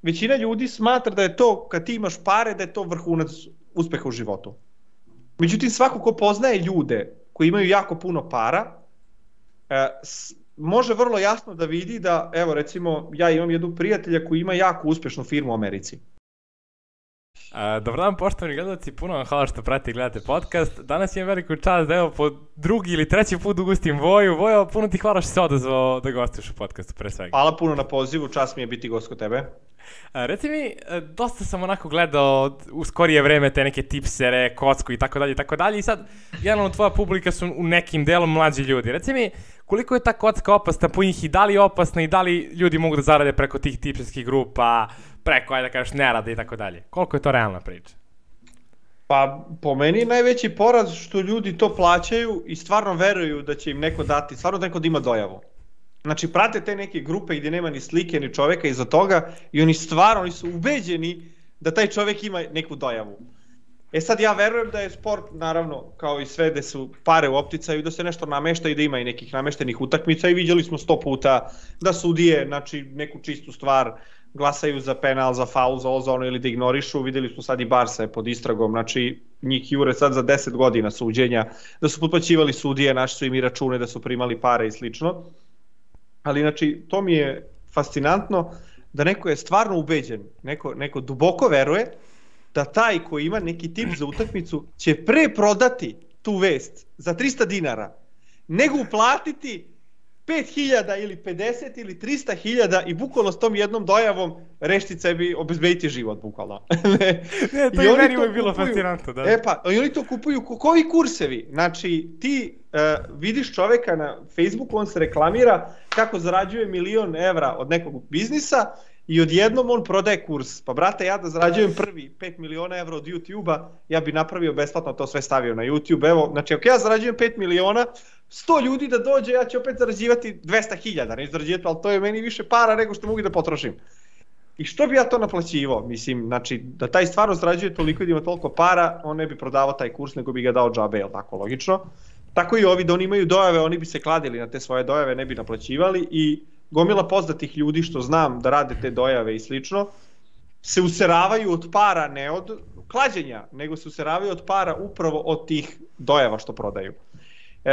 većina ljudi smatra da je to, kad ti imaš pare, da je to vrhunac uspeha u životu. Međutim, svako ko poznaje ljude koji imaju jako puno para, može vrlo jasno da vidi da, evo recimo, ja imam jednog prijatelja koji ima jako uspešnu firmu u Americi. Dobar dan, poštovani gledalci, puno vam hvala što pratite i gledate podcast. Danas imam veliku čast da evo po drugi ili treći put ugostim Voju. Vojo, puno ti hvala što si odazvao da gostuješ u podcastu, pre svega. Hvala puno na pozivu, čast mi je biti gost kod tebe. Reci mi, dosta sam onako gledao u skorije vreme te neke tipsere, kocku i tako dalje i sad, generalno tvoja publika su u nekim delom mlađi ljudi. Reci mi, koliko je ta kocka opasna po njih i da li je opasna i da li ljudi mogu da zarade preko tih tipserskih grupa, preko, ajde da kažeš, nerada i tako dalje? Koliko je to realna priča? Pa, po meni je najveći poraz što ljudi to plaćaju i stvarno veruju da će im neko dati, stvarno neko da ima dojavu. Znači, prate te neke grupe gdje nema ni slike, ni čoveka iza toga i oni su ubeđeni da taj čovek ima neku dojavu. Sad ja verujem da je sport, naravno, kao i sve gde su pare u opticaju, da se nešto namešta i da ima i nekih nameštenih utakmica i vidjeli smo 100 puta da sudije, znači, neku čistu stvar glasaju za penal, za faul, za ovo, za ono ili da ignorišu. Vidjeli smo sad i Barsa je pod istragom, znači njih jure sad za 10 godina suđenja, da su potplaćivali sudije, naši su im i račune, da su primali pare i slično. Ali znači to mi je fascinantno da neko je stvarno ubeđen, neko duboko veruje da taj koji ima neki tip za utakmicu će pre prodati tu vest za 300 dinara nego uplatiti 5.000 ili 50 ili 300.000 i bukvalno s tom jednom dojavom rešiti sebi, obezbediti život, bukvalno. To je meni uvijek bilo fascinantno, da. I oni to kupuju, koji kursevi? Znači, ti vidiš čoveka na Facebooku, on se reklamira kako zarađuje 1.000.000 evra od nekog biznisa i odjednom on prodaje kurs. Pa brate, ja da zarađujem prvi 5 miliona evra od YouTube-a, ja bi napravio besplatno, to sve stavio na YouTube. Evo, znači, ako ja zarađujem 5 miliona, 100 ljudi da dođe, ja ću opet zarađivati 200.000, neću zarađivati, ali to je meni više para nego što mogu da potrošim. I što bi ja to naplaćivao? Mislim, znači, da taj stvarno zarađuje toliko i da ima toliko para, on ne bi prodavao taj kurs, nego bi ga dao džabe, jel tako, logično? Tako i ovi, da oni imaju dojave, oni bi se kladili na te svoje dojave, ne bi naplaćivali i gomila poznatih ljudi što znam da rade te dojave i slično, se useravaju od para, ne od klađenja, nego se useravaju od para upravo od tih dojava što prodaju.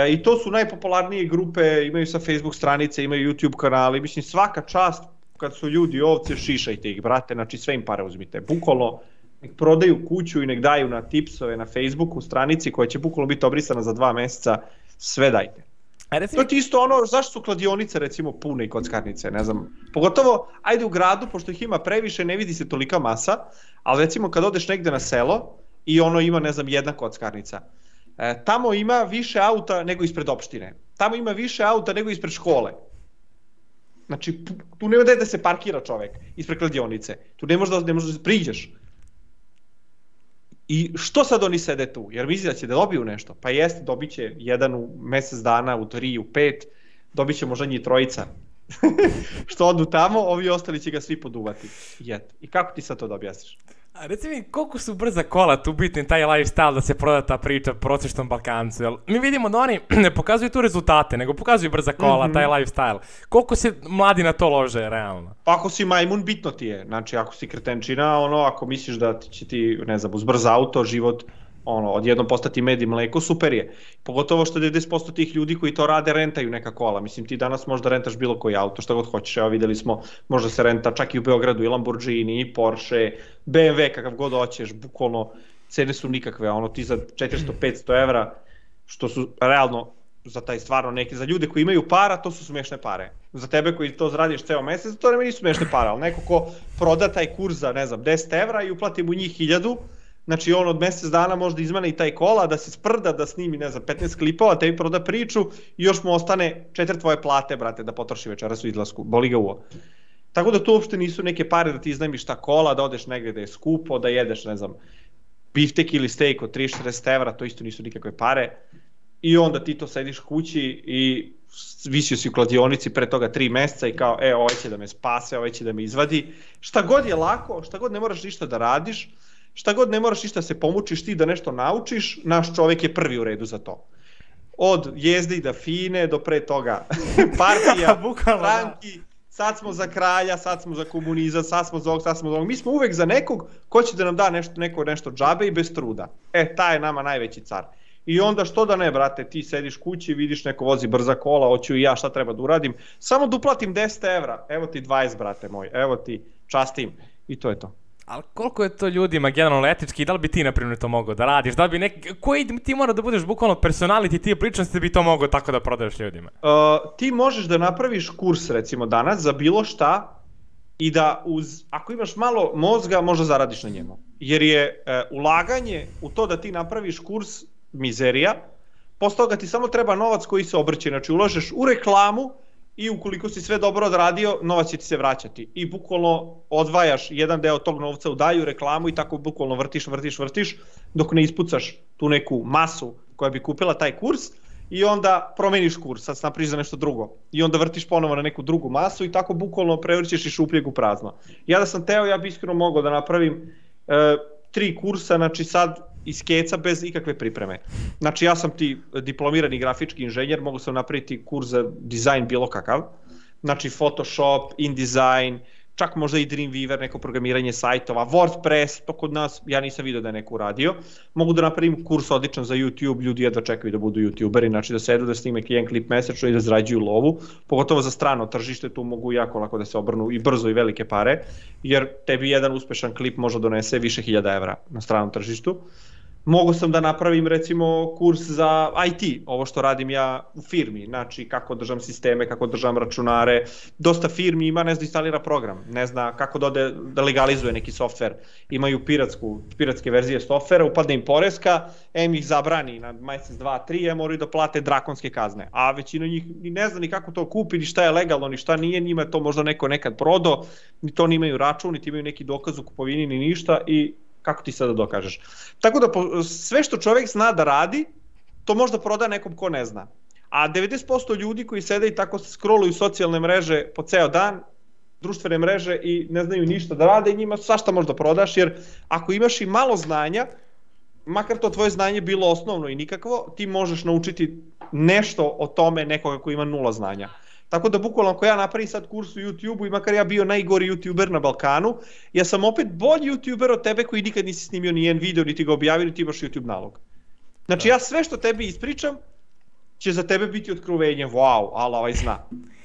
I to su najpopularnije grupe, imaju sa Facebook stranice, imaju YouTube kanali, mislim svaka čast kad su ljudi ovce, šišajte ih, brate, znači sve im pare uzmite, bukvalno nek prodaju kuću i nek daju na tipsove na Facebooku stranici koja će bukvalno biti obrisana za 2 meseca, sve dajte. To ti isto ono, zašto su kladionice recimo pune i kockarnice, ne znam, pogotovo ajde u gradu, pošto ih ima previše, ne vidi se tolika masa, ali recimo kad odeš negde na selo i ono ima, ne znam, jedna kockarnica, tamo ima više auta nego ispred opštine, tamo ima više auta nego ispred škole. Znači, tu nema da se parkira čovek ispred kladionice, tu ne možeš da priđeš. I što sad oni sede tu? Jer misli da će da dobiju nešto? Pa jeste, dobit će jedan u mesec dana, u 3, u 5, dobit će možda njih 3. Što odu tamo, ovi ostali će ga svi poduvati. I kako ti sad to da objasniš? A reci mi, koliko su brza kola tu bitni taj lifestyle da se proda ta priča prosječnom Balkancu? Jel, mi vidimo da oni ne pokazuju tu rezultate, nego pokazuju brza kola, taj lifestyle. Koliko se mladi na to lože, realno? Pa ako si majmun, bitno ti je. Znači, ako si kretenčina, ako misliš da će ti, ne znam, uz brz auto, život, odjednom postati med i mleko, super je. Pogotovo što 90% tih ljudi koji to rade rentaju neka kola. Mislim, ti danas možda rentaš bilo koji auto, šta god hoćeš. Evo videli smo, možda se renta čak i u Beogradu i Lamborghini, i Porsche, BMW, kakav god hoćeš, bukvalno cene su nikakve. Ti za 400-500 evra, što su realno za taj stvarno neki, za ljude koji imaju para, to su smešne pare. Za tebe koji to zaradiš ceo mesec, to nisu smešne pare, ali neko ko proda taj kurs za, ne znam, 10 evra i uplati mu njih 1000, znači on od mesec dana možda izmene i taj kola, da se sprda, da snimi, ne znam, 15 klipova, tebi proda priču i još mu ostane 4 tvoje plate, brate, da potroši večeras u izlasku, boli ga uvo. Tako da to uopšte nisu neke pare da ti iznajmiš ta kola, da odeš negde da je skupo, da jedeš, ne znam, biftek ili steak od 30-40 evra, to isto nisu nikakve pare. I onda ti to sediš kući i visio si u kladionici pre toga 3 meseca i kao, ovaj će da me spase, ovaj će da me izvadi. Šta god je lako, šta god ne moraš ništa da radiš, šta god ne moraš ništa se pomučiš ti da nešto naučiš, naš čovek je prvi u redu za to. Od jezde i da fine do pre toga partija, stranki, sad smo za kralja, sad smo za komunizam, sad smo za ovog, sad smo za ovog. Mi smo uvek za nekog ko će da nam da nešto džabe i bez truda. Taj je nama najveći car. I onda što da ne, brate, ti sediš kući, vidiš neko vozi brza kola, hoću i ja, šta treba da uradim, samo da uplatim 10 evra, evo ti 20, brate moj, evo ti, častim, i to je to. Ali koliko je to ljudima generalno etički i da li bi ti, na primjer, to mogao da radiš? Da li bi koji ti mora da budeš bukvalno personality, ti ličnosti da bi to mogao tako da prodaješ ljudima? Ti možeš da napraviš kurs, recimo danas, za bilo šta i da ako imaš malo mozga, možda zaradiš na njemu. Jer je ulaganje u to da ti napraviš kurs mizerija, posle toga ti samo treba novac koji se obrće, znači ulažeš u reklamu i ukoliko si sve dobro odradio, novac će ti se vraćati i bukvalno odvajaš jedan deo tog novca u dalju reklamu i tako bukvalno vrtiš dok ne ispucaš tu neku masu koja bi kupila taj kurs i onda promeniš kurs, sad se napriš za nešto drugo i onda vrtiš ponovo na neku drugu masu i tako bukvalno prevrćeš iz šupljeg u prazno. Ja da sam teo, ja bi iskreno mogao da napravim 3 kursa, znači sad iz keca bez ikakve pripreme. Znači ja sam ti diplomirani grafički inženjer, mogu sam napraviti kurs za dizajn bilo kakav, znači Photoshop, InDesign, čak možda i Dreamweaver, neko programiranje sajtova, WordPress, to kod nas, ja nisam vidio da je neko uradio. Mogu da napravim kurs odličan za YouTube, ljudi jedva čekaju da budu YouTuberi, znači da sedu, da snime jedan klip mesečno i da zarađuju lovu, pogotovo za strano tržište, tu mogu jako lako da se obrnu i brzo i velike pare, jer tebi jedan uspešan klip može donese više 1000 evra na stranom tržištu. Mogu sam da napravim recimo kurs za IT, ovo što radim ja u firmi, znači kako držam sisteme, kako držam računare, dosta firmi ima, ne zna instalira program, ne zna kako da legalizuje neki softver, imaju piratske verzije softvera, upadne im poreska, ih zabrani na mesec, 2, 3, moraju da plate drakonske kazne, a većina njih ne zna ni kako to kupi, ni šta je legalno, ni šta nije, njima je to možda neko nekad prodao, ni to nimaju račun, niti imaju neki dokaz u kupovini, ni ništa i kako ti sada dokažeš. Tako da sve što čovjek zna da radi, to možda proda nekom ko ne zna. A 90% ljudi koji sede i tako scrolluju socijalne mreže po ceo dan, društvene mreže i ne znaju ništa da rade i njima svašta možda prodaš, jer ako imaš i malo znanja, makar to tvoje znanje bilo osnovno i nikakvo, ti možeš naučiti nešto o tome nekoga koji ima 0 znanja. Tako da bukvalno ako ja napravim sad kurs u YouTube-u i makar ja bio najgori YouTuber na Balkanu, ja sam opet bolji YouTuber od tebe koji nikad nisi snimio ni jedan video, niti ga objavio, niti imaš YouTube nalog. Znači ja sve što tebi ispričam će za tebe biti otkrovenje, wow, ali ovaj zna.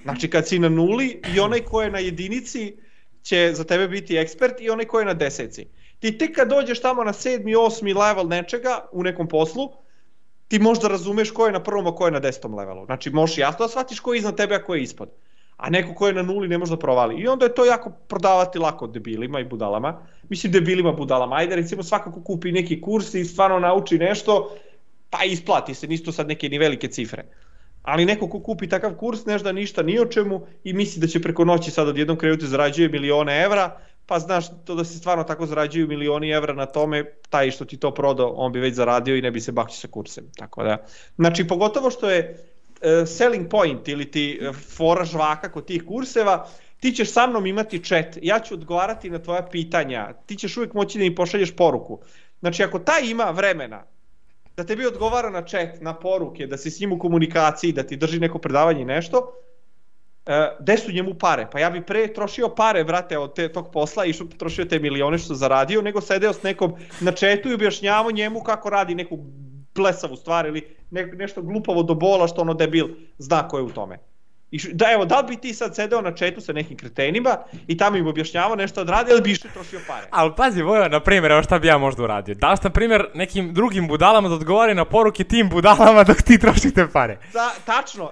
Znači kad si na 0 i onaj ko je na 1 će za tebe biti ekspert i onaj ko je na 10. Ti tek kad dođeš tamo na 7. 8. level nečega u nekom poslu, ti možda razumeš ko je na 1. a ko je na 10. levelu. Znači možeš jasno da shvatiš ko je iznad tebe a ko je ispod. A neko ko je na 0 ne može da provali. I onda je to jako prodavati lako debilima i budalama. Mislim debilima, budalama. Ajde recimo svakako kupi neki kurs i stvarno nauči nešto, pa isplati se, nisu to sad neke ni velike cifre. Ali neko ko kupi takav kurs ne zna ništa ni o čemu i misli da će preko noći sad odjednom krenuti zarađuje milione evra, pa znaš to da se stvarno tako zarađuju milioni evra na tome, taj što ti to prodao, on bi već zaradio i ne bi se bakćio sa kursem. Tako da, znači pogotovo što je selling point ili ti fora žvaka kod tih kurseva, ti ćeš sa mnom imati chat, ja ću odgovarati na tvoja pitanja, ti ćeš uvijek moći da mi pošalješ poruku. Znači ako taj ima vremena da tebi odgovara na chat, na poruke, da si s njim u komunikaciji, da ti drži neko predavanje i nešto, gde su njemu pare? Pa ja bi pre trošio pare, brate, od tog posla i trošio te milione što zaradio, nego sedeo s nekom na chatu i objašnjavao njemu kako radi neku blesavu stvar ili nešto glupavo do bola što ono debil zna ko je u tome. I evo, da li bi ti sad sedeo na chatu sa nekim kretenima i tamo im objašnjavao nešto da radi, ili bi išli trošio pare? Ali pazi, Vojo, na primjer, evo šta bi ja možda uradio. Da li na primjer nekim drugim budalama da odgovori na poruke tim budalama dok ti trošite pare? Tačno,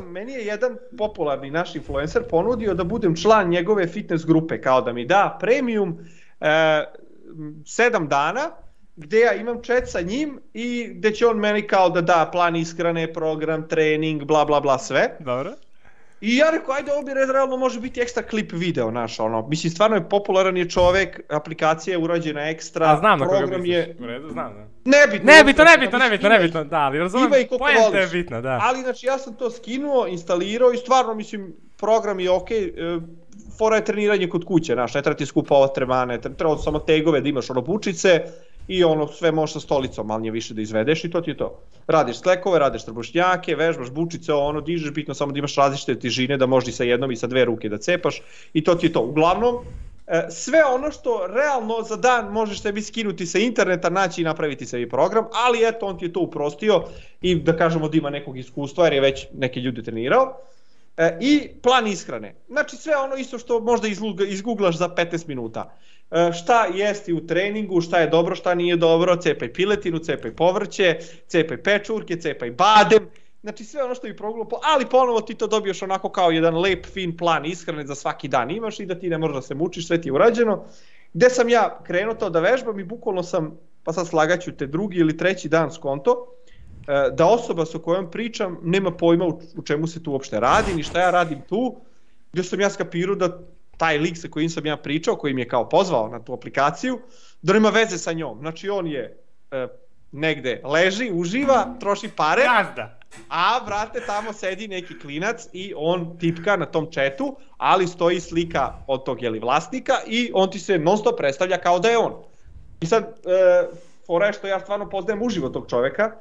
meni je jedan popularni naš influencer ponudio da budem član njegove fitness grupe, kao da mi da premium 7 dana, gde ja imam chat sa njim i gde će on meni kao da da plan ishrane, program, trening, bla bla bla sve. Dobro. I ja rekao, ajde, ovo bi realno može biti ekstra klip video, naš, ono, mislim, stvarno je popularan je čovek, aplikacija je urađena ekstra, a znam program je... U redu, znam, da. Nebitno, da, ali razumijem, pojenta je bitna, da. Ali, znači, ja sam to skinuo, instalirao i stvarno, mislim, program je okej, fora je treniranje kod kuće, znaš, ne treba ti skupa ovo tremane, treba samo tegove da imaš ono bučice i ono sve možeš sa stolicom manje više da izvedeš i to ti je to. Radiš sklekove, radiš trbušnjake, vežbaš bučice, ono dižeš, bitno samo da imaš različite težine, da možeš i sa jednom i sa dve ruke da cepaš i to ti je to. Uglavnom, sve ono što realno za dan možeš sebi skinuti sa interneta, naći i napraviti sebi program, ali eto on ti je to uprostio i da kažemo da ima nekog iskustva jer je već neke ljude trenirao. I plan ishrane. Znači sve ono isto što možda izgooglaš za 15 minuta. Šta jesti u treningu, šta je dobro, šta nije dobro, cepaj piletinu, cepaj povrće, cepaj pečurke, cepaj badem. Znači sve ono što bi progledao, ali ponovo ti to dobiješ onako kao jedan lep, fin plan ishrane za svaki dan imaš i da ti ne možeš da se mučiš, sve ti je urađeno. Gde sam ja krenuo to da vežbam i bukvalno sam, pa sad slagaću te drugi ili treći dan skonto, da osoba sa kojom pričam nema pojma u čemu se tu uopšte radi, ni šta ja radim tu, gdje sam ja skapirao da taj lik sa kojim sam ja pričao, koji mi je kao pozvao na tu aplikaciju, da nema veze sa njom. Znači on je negde leži, uživa, troši pare, a brate tamo sedi neki klinac i on tipka na tom chatu, ali stoji slika od tog vlasnika i on ti se non stop predstavlja kao da je on. I sad, fora je što ja stvarno poznajem uživo tog čoveka,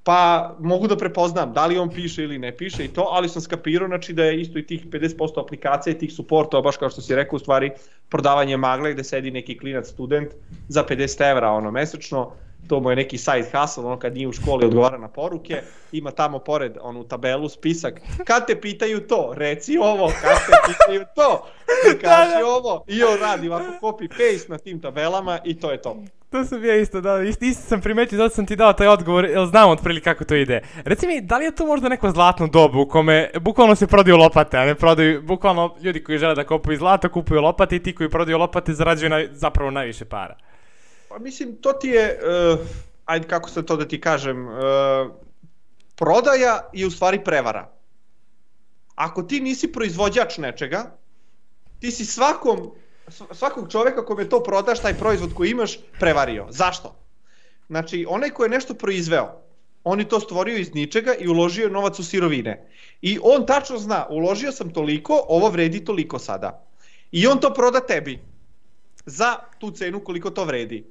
pa mogu da prepoznam da li on piše ili ne piše i to, ali sam skapirao znači da je isto i tih 50% aplikacija i tih supportova, baš kao što si rekao, u stvari prodavanje magle gde sedi neki klinac student za 50 evra ono mesečno, to mu je neki side hustle, ono kad nije u školi odgovara na poruke, ima tamo pored onu tabelu, spisak, kad te pitaju to, reci ovo, kad te pitaju to, kaži ovo, i on radi ovako copy paste na tim tabelama i to je to. To sam ja isto dao, isto sam primetio, zato sam ti dao taj odgovor, jer znam otprilike kako to ide. Reci mi, da li je to možda neko zlatno dobu u kome bukvalno se prodaju lopate, a ne prodaju, bukvalno ljudi koji žele da kupuju zlato, kupuju lopate i ti koji prodaju lopate zarađuju zapravo najviše para? Pa mislim, to ti je, ajde kako se to da ti kažem, prodaja i u stvari prevara. Ako ti nisi proizvođač nečega, ti si svakog čoveka kome to prodaš, taj proizvod koji imaš, prevario. Zašto? Znači, onaj ko je nešto proizveo, on je to stvorio iz ničega i uložio novac u sirovine. I on tačno zna, uložio sam toliko, ovo vredi toliko sada. I on to proda tebi za tu cenu koliko to vredi.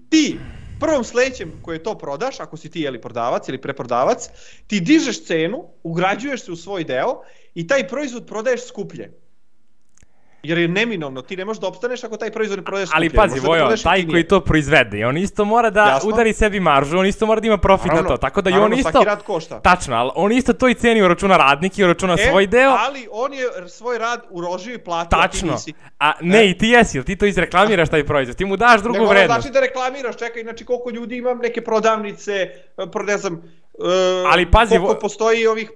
Ti, prvom sledećem koje to prodaš, ako si ti prodavac ili preprodavac, ti dižeš cenu, ugrađuješ se u svoj deo i taj proizvod prodaješ skuplje. Jer je neminovno, ti ne možeš da opstaneš ako taj proizvod ne prodaješ skuplje. Ali pazi, Vojo, taj koji to proizvede, on isto mora da udari sebi maržu, on isto mora da ima profit na to, tako da i on isto... Svaki rad košta. Tačno, ali on isto to i ceni, uračuna radnik i uračuna svoj deo. Ali on je svoj rad uložio i platio, a ti nisi. A ne, i ti jesi, ti to izreklamiraš taj proizvod, ti mu daš drugu vrednost. Nego znači da reklamiraš, čekaj, znači koliko ljudi imam, neke prodavnice, ne znam, koliko postoji ovih...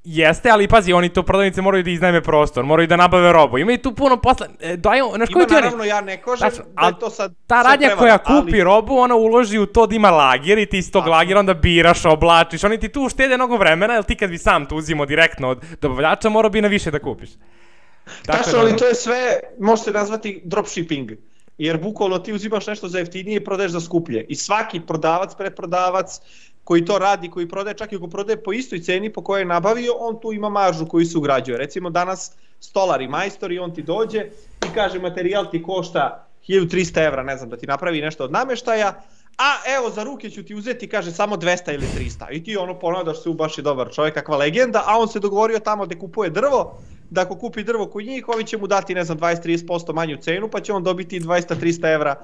Jeste, ali pazi, oni to prodavnice moraju da iznajme prostor, moraju da nabave robu, ima i tu puno posla... Ima naravno, ja ne kažem da je to sad... Ta radnja koja kupi robu, ona uloži u to da ima lager i ti iz tog lagera onda biraš, oblačiš, oni ti tu uštede mnogo vremena, jer ti kad bi sam to uzimo direktno od dobavljača, morao bi na više da kupiš. Tačno, ali to je sve, može se nazvati dropshipping, jer bukvalno ti uzimaš nešto za jeftinije i prodaješ za skuplje. I svaki prodavac, preprodavac, koji to radi, koji prodaje, čak i ako prodaje po istoj ceni po kojoj je nabavio, on tu ima maržu koju se ugrađuje. Recimo danas stolar i majstor i on ti dođe i kaže materijal ti košta 1300 evra, ne znam, da ti napravi nešto od nameštaja, a evo za ruke ću ti uzeti, kaže samo 200 ili 300. I ti ono ponadaš se, baš je dobar čovjek, kakva legenda, a on se dogovorio tamo da kupuje drvo, da ako kupi drvo kod njih, ovi će mu dati, ne znam, 20-30% manju cenu, pa će on dobiti 200-300 evra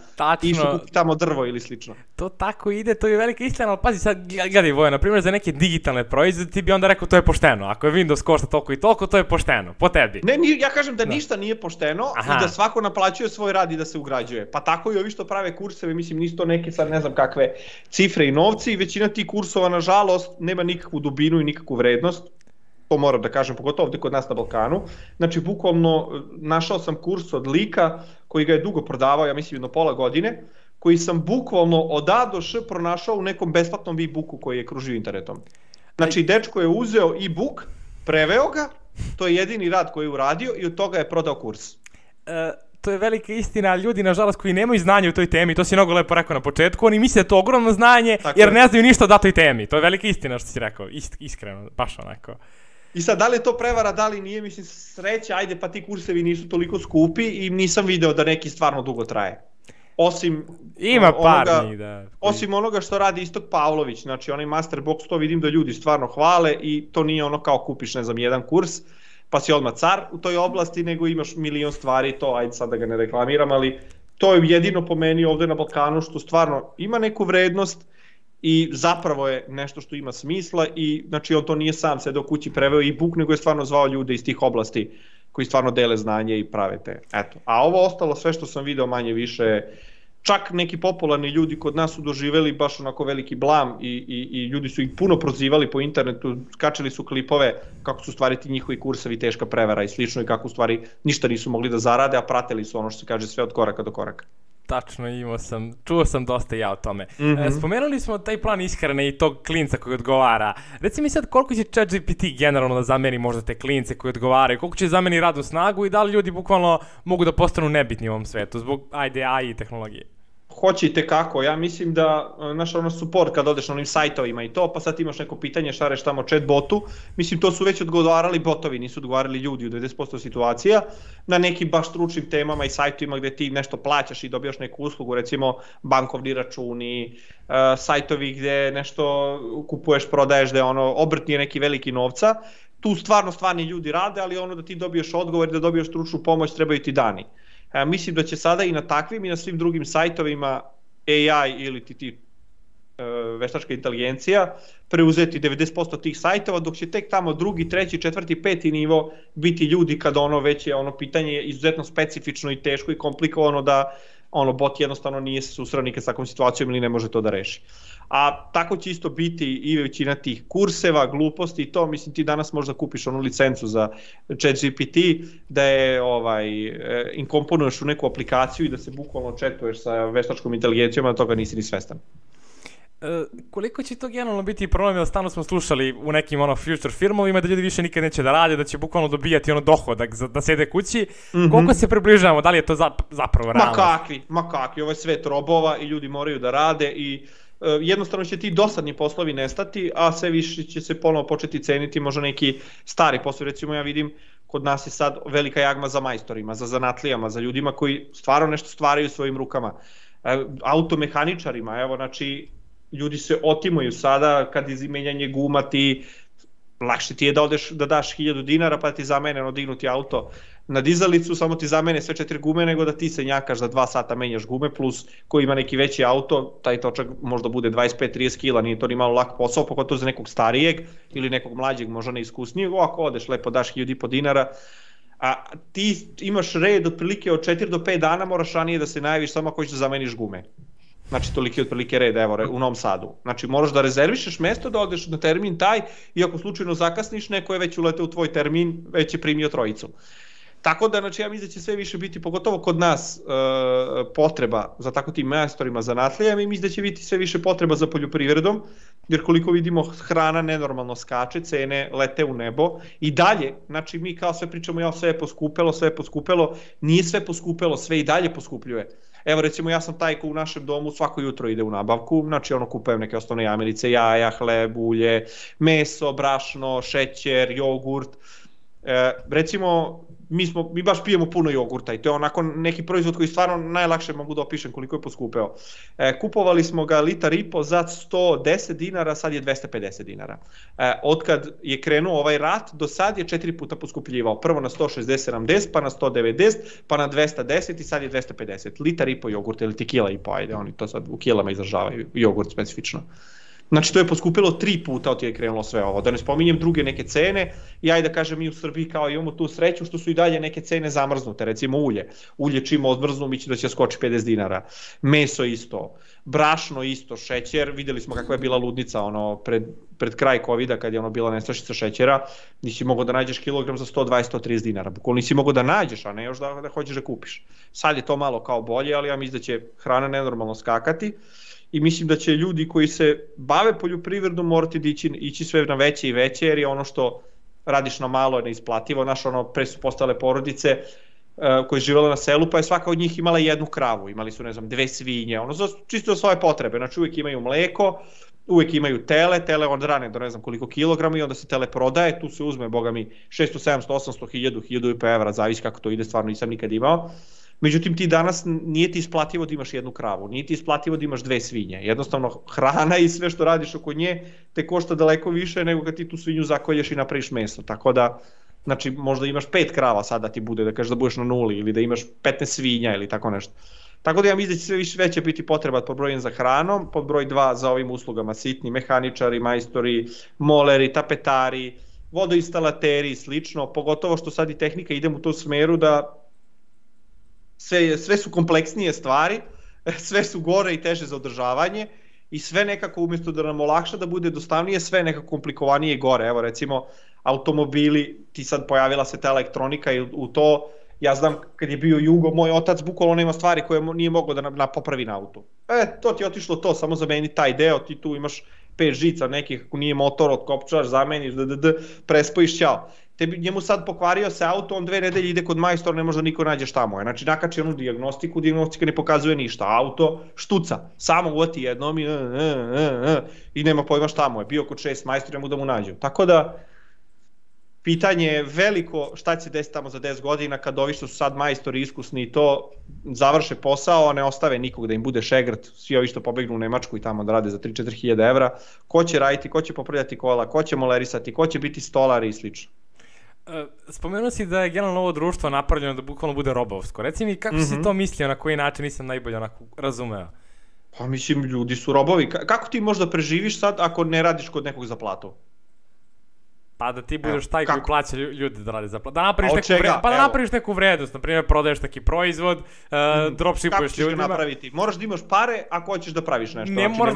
i što kupi tamo drvo ili slično. To tako ide, to je velika istina, ali pazi sad, gledaj Voja, na primjer za neke digitalne proizvode ti bi onda rekao to je pošteno, ako je Windows košta toliko i toliko, to je pošteno, po tebi. Ne, ja kažem da ništa nije pošteno i da svako naplaćuje svoj rad i da se ugrađuje, pa tako i ovi što prave kurseve, mislim nisu to neke sad ne znam kakve cifre i novci i većina tih kursova nažalost nema nikakvu dubinu i nikakvu vrednost. To moram da kažem, pogotovo ovde kod nas na Balkanu. Znači, bukvalno našao sam kurs od lika koji ga je dugo prodavao, ja mislim jedno pola godine, koji sam bukvalno od A do Š pronašao u nekom besplatnom e-booku koji je kružio internetom. Znači, dečko je uzeo e-book, preveo ga, to je jedini rad koji je uradio i od toga je prodao kurs. To je velika istina, ljudi nažalost koji nemaju znanje u toj temi, to si mnogo lepo rekao na početku, oni misle da je to ogromno znanje jer ne znaju ništa o datoj temi. To je velika istina što si rekao, iskreno, baš onako. I sad, da li je to prevara, da li nije, mislim, sreća, ajde pa ti kursevi nisu toliko skupi i nisam video da neki stvarno dugo traje. osim Ima par onoga, njih, da. osim onoga što radi Istok Pavlović, znači onaj Masterbox, to vidim da ljudi stvarno hvale i to nije ono kao kupiš, ne znam, jedan kurs, pa si odmah car u toj oblasti, nego imaš milion stvari, to ajde sad da ga ne reklamiram, ali to je jedino po meni ovde na Balkanu što stvarno ima neku vrednost i zapravo je nešto što ima smisla i znači on to nije sam sedeo kući preveo e-book, nego je stvarno zvao ljude iz tih oblasti koji stvarno dele znanje i prave te. Eto. A ovo ostalo sve što sam video manje više, čak neki popularni ljudi kod nas su doživeli baš onako veliki blam i ljudi su ih puno prozivali po internetu, kačili su klipove kako su stvari ti njihovi kursevi teška prevara i slično i kako u stvari ništa nisu mogli da zarade, a pratili su ono što se kaže sve od koraka do koraka. Tačno, čuo sam dosta ja o tome. Spomenuli smo taj plan ishrane i tog klinca koji odgovara. Reci mi sad koliko će ChatGPT generalno da zameni možda te klince koji odgovaraju, koliko će zameni radnu snagu i da li ljudi bukvalno mogu da postanu nebitni u ovom svetu zbog AI i tehnologije? Hoće i tekako, ja mislim da naš ono support kad odeš na onim sajtovima i to, pa sad imaš neko pitanje, šareš tamo chat botu, mislim to su već odgovarali botovi, nisu odgovarali ljudi u 90% situacija, na nekim baš stručnim temama i sajtovima gde ti nešto plaćaš i dobijaš neku uslugu, recimo bankovni računi, sajtovi gde nešto kupuješ, prodaješ, gde ono obrt nije neki veliki novca, tu stvarni ljudi rade, ali ono da ti dobiješ odgovor, da dobiješ stručnu pomoć, trebaju ti dani. Mislim da će sada i na takvim i na svim drugim sajtovima AI ili ti veštačka inteligencija preuzeti 90% tih sajtova, dok će tek tamo drugi, treći, četvrti, peti nivo biti ljudi kada ono već je ono pitanje izuzetno specifično i teško i komplikovano da ono bot jednostavno nije se susreo nikad s takvom situacijom ili ne može to da reši. A tako će isto biti i većina tih kurseva, gluposti i to, mislim ti danas možda kupiš onu licencu za ChatGPT, da je inkomponuješ u neku aplikaciju i da se bukvalno chatuješ sa veštačkom inteligencijom, a toga nisi ni svestan. Koliko će to generalno biti problem, jer stalno smo slušali u nekim future filmovima da ljudi više nikad neće da rade, da će bukvalno dobijati dohodak da sede kući, koliko se približavamo, da li je to zapravo realno? Ma kakvi, ovo je svet robova i ljudi moraju da rade i jednostavno će ti dosadni poslovi nestati, a sve više će se ponovo početi ceniti možda neki stari poslovi, recimo ja vidim kod nas je sad velika jagma za majstorima, za zanatlijama, za ljudima koji stvarno nešto stvaraju svojim rukama, automehaničarima, evo znači ljudi se otimaju sada kad je menjanje guma, ti lakše ti je da odeš da daš 1000 dinara pa ti zamene dignuti auto na dizalicu, samo ti zamene sve 4 gume nego da ti se njakaš za 2 sata menjaš gume, plus ko ima neki veći auto, taj točak možda bude 25-30 kila, nije to ni malo lak posao, pogotovo za nekog starijeg ili nekog mlađeg, možda neiskusnijeg, ako odeš lepo daš 1500 dinara, a ti imaš red otprilike od 4 do 5 dana, moraš ranije da se najaviš samo ako ćeš da zameniš gume. Znači toliki otprilike red, evo, u Novom Sadu. Znači moraš da rezervišeš mesto, da odeš na termin taj i ako slučajno zakasniš, neko je već uleteo u tvoj termin, već je primio trojicu. Tako da, znači, ja mislim da će sve više biti, pogotovo kod nas, potreba za tako tim majstorima zanatlijama i mislim da će biti sve više potreba za poljoprivredom, jer koliko vidimo hrana nenormalno skače, cene lete u nebo i dalje, znači mi kao sve pričamo, sve je poskupelo, nije sve poskupelo, sve i dalje poskupljuje. Evo recimo ja sam taj ko u našem domu svako jutro ide u nabavku, znači kupujem neke osnovne jamirice, jaja, hleb, ulje, meso, brašno, šećer, jogurt. Recimo mi baš pijemo puno jogurta i to je onako neki proizvod koji stvarno najlakše mogu da opišem koliko je poskupeo. Kupovali smo ga 1,5 litara za 110 dinara, sad je 250 dinara. Otkad je krenuo ovaj rat, do sad je 4 puta poskupljivao. Prvo na 160-70, pa na 190, pa na 210 i sad je 250. 1,5 litara jogurta ili ti 1,5 kila, ajde, oni to sad u kilama izražavaju, jogurt specifično. Znači to je poskupilo 3 puta od je krenulo sve ovo, da ne spominjem druge neke cene i ajde da kažem mi u Srbiji kao imamo tu sreću što su i dalje neke cene zamrznute, recimo ulje čim odmrznu mi će da će skoči 50 dinara, meso isto, brašno isto, šećer, videli smo kakva je bila ludnica pred kraj covida kad je bila nestašica šećera, nisi mogao da nađeš kilogram za 120-130 dinara, bukvalno nisi mogao da nađeš, a ne još da hoćeš da kupiš. Sad je to malo kao bolje, ali ja mislim da će hrana nenormalno skakati. I mislim da će ljudi koji se bave poljoprivredom morati da ići sve na veće i veće, jer je ono što radiš na malo je neisplativo. Pre su postale porodice koje živele na selu, pa je svaka od njih imala jednu kravu, imali su, 2 svinje, čisto za svoje potrebe, znači uvijek imaju mleko, uvijek imaju tele od rane do ne znam koliko kilograma i onda se tele prodaje, tu se uzme, boga mi, 600, 700, 800, 1000, 1000 evra, zavisi kako to ide, stvarno nisam nikad imao. Međutim, ti danas nije ti isplativo da imaš jednu kravu, nije ti isplativo da imaš 2 svinje. Jednostavno, hrana i sve što radiš oko nje te košta daleko više nego kad ti tu svinju zakolješ i napraviš meso. Tako da, znači, možda imaš 5 krava sad da ti bude, da kažeš da budeš na nuli, ili da imaš 15 svinja ili tako nešto. Tako da ja mislim da će sve više veće biti potreba pod broj 1 za hranom, pod broj 2 za ovim uslugama, sitni mehaničari, majstori, moleri, tapetari, vodoinstalateri i slično, pogotovo što sad i tehnika ide u tom smeru da sve su kompleksnije stvari, sve su gore i teže za održavanje i sve nekako umjesto da nam olakša da bude jednostavnije, sve nekako komplikovanije i gore. Evo recimo automobili, ti sad pojavila se ta elektronika i u to, ja znam kad je bio Jugo, moj otac bukvalno nema stvari koje nije mogao da popravi na autu. To ti je otišlo to, samo zameni taj deo, ti tu imaš 5 žica nekih, ako nije motor, otkopčaš, zameniš, prespojiš, ćao. Njemu sad pokvario se auto, on 2 nedelje ide kod majstora, ne može da niko nađe šta mu je. Znači nakači onu dijagnostiku, dijagnostika ne pokazuje ništa, auto štuca, samo uvati jednom i nema pojma šta mu je. Bio kod 6 majstora mu da mu nađu. Tako da, pitanje je veliko šta će se desiti tamo za 10 godina kad ovi što su sad majstori iskusni i to završe posao, a ne ostave nikog da im bude šegrt, svi ovi što pobegnu u Nemačku i tamo da rade za 3-4 hiljade evra, ko će raditi, ko će popravljati kola, ko će molerisati, ko će biti stolari i slično. Spomenuo si da je generalno ovo društvo napravljeno da bukvalno bude robovsko. Reci mi kako si to mislio, na koji način nisam najbolje onako razumeo? Pa mislim, ljudi su robovi. Kako ti možda preživiš sad ako ne radiš kod nekog za platu? Pa da ti budeš taj koji plaća ljudi da radi za platu. Da napraviš neku vrednost, na primjer prodaješ neki proizvod, dropshipuješ ljudima. Kako ćeš ga napraviti? Moraš da imaš pare ako hoćeš da praviš nešto. Ne, možeš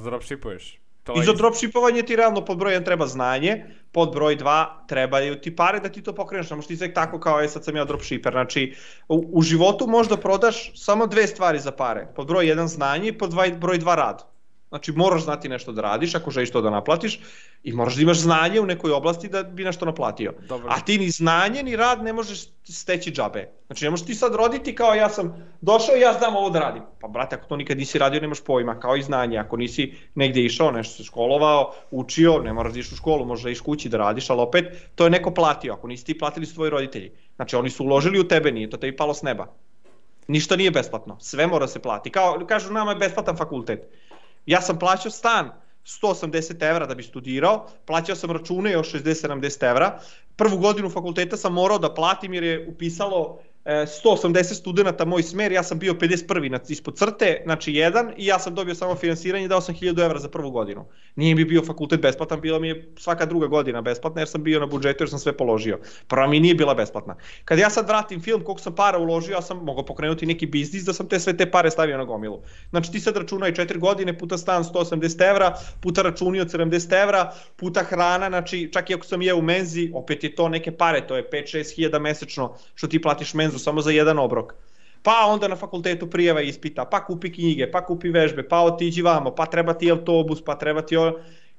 dropshipuješ. I za dropshipovanje ti realno pod broj 1 treba znanje, pod broj 2 trebaju ti pare da ti to pokreneš, ne možeš ti sve tako kao sad sam ja dropshipper, znači u životu možda prodaš samo 2 stvari za pare, pod broj 1 znanje i pod broj 2 rad. Znači moraš znati nešto da radiš ako želiš to da naplatiš i moraš da imaš znanje u nekoj oblasti da bi nešto naplatio. Dobro. A ti ni znanje ni rad ne možeš steći džabe. Znači ne možeš ti sad roditi kao ja sam došao i ja znam ovo da radim. Pa brate, ako to nikad nisi radio nemaš pojma, kao i znanje. Ako nisi negdje išao, nešto se školovao, učio, ne moraš da iš u školu, možeš da iš kući da radiš, ali opet to je neko platio. Ako nisi ti platili su tvoji roditelji. Znači oni su uložili u tebe, nije to tebi palo s neba. Ništa nije besplatno, sve mora se plati. Kažu nama je besplatan fakultet. Ja sam plaćao stan 180 evra da bi studirao, plaćao sam račune još 60-70 evra, prvu godinu fakulteta sam morao da platim jer je upisalo 180 studenta moj smer, ja sam bio 51. ispod crte, znači 1 i ja sam dobio samo finansiranje, dao sam 1000 evra za prvu godinu. Nije mi bio fakultet besplatan, bila mi je svaka druga godina besplatna jer sam bio na budžetu jer sam sve položio. Prva mi nije bila besplatna. Kad ja sad vratim film koliko sam para uložio, ja sam mogao pokrenuti neki biznis da sam sve te pare stavio na gomilu. Znači ti sad računaj 4 godine puta stan 180 evra, puta računi od 70 evra, puta hrana, znači čak i ako sam jeo u menzi, opet je to neke pare, to je 5-6 hiljada mesečno što ti platiš menzu samo za jedan obrok. Pa onda na fakultetu prijava ispita, pa kupi knjige, pa kupi vežbe, pa otiđi vamo, pa treba ti autobus, pa treba ti...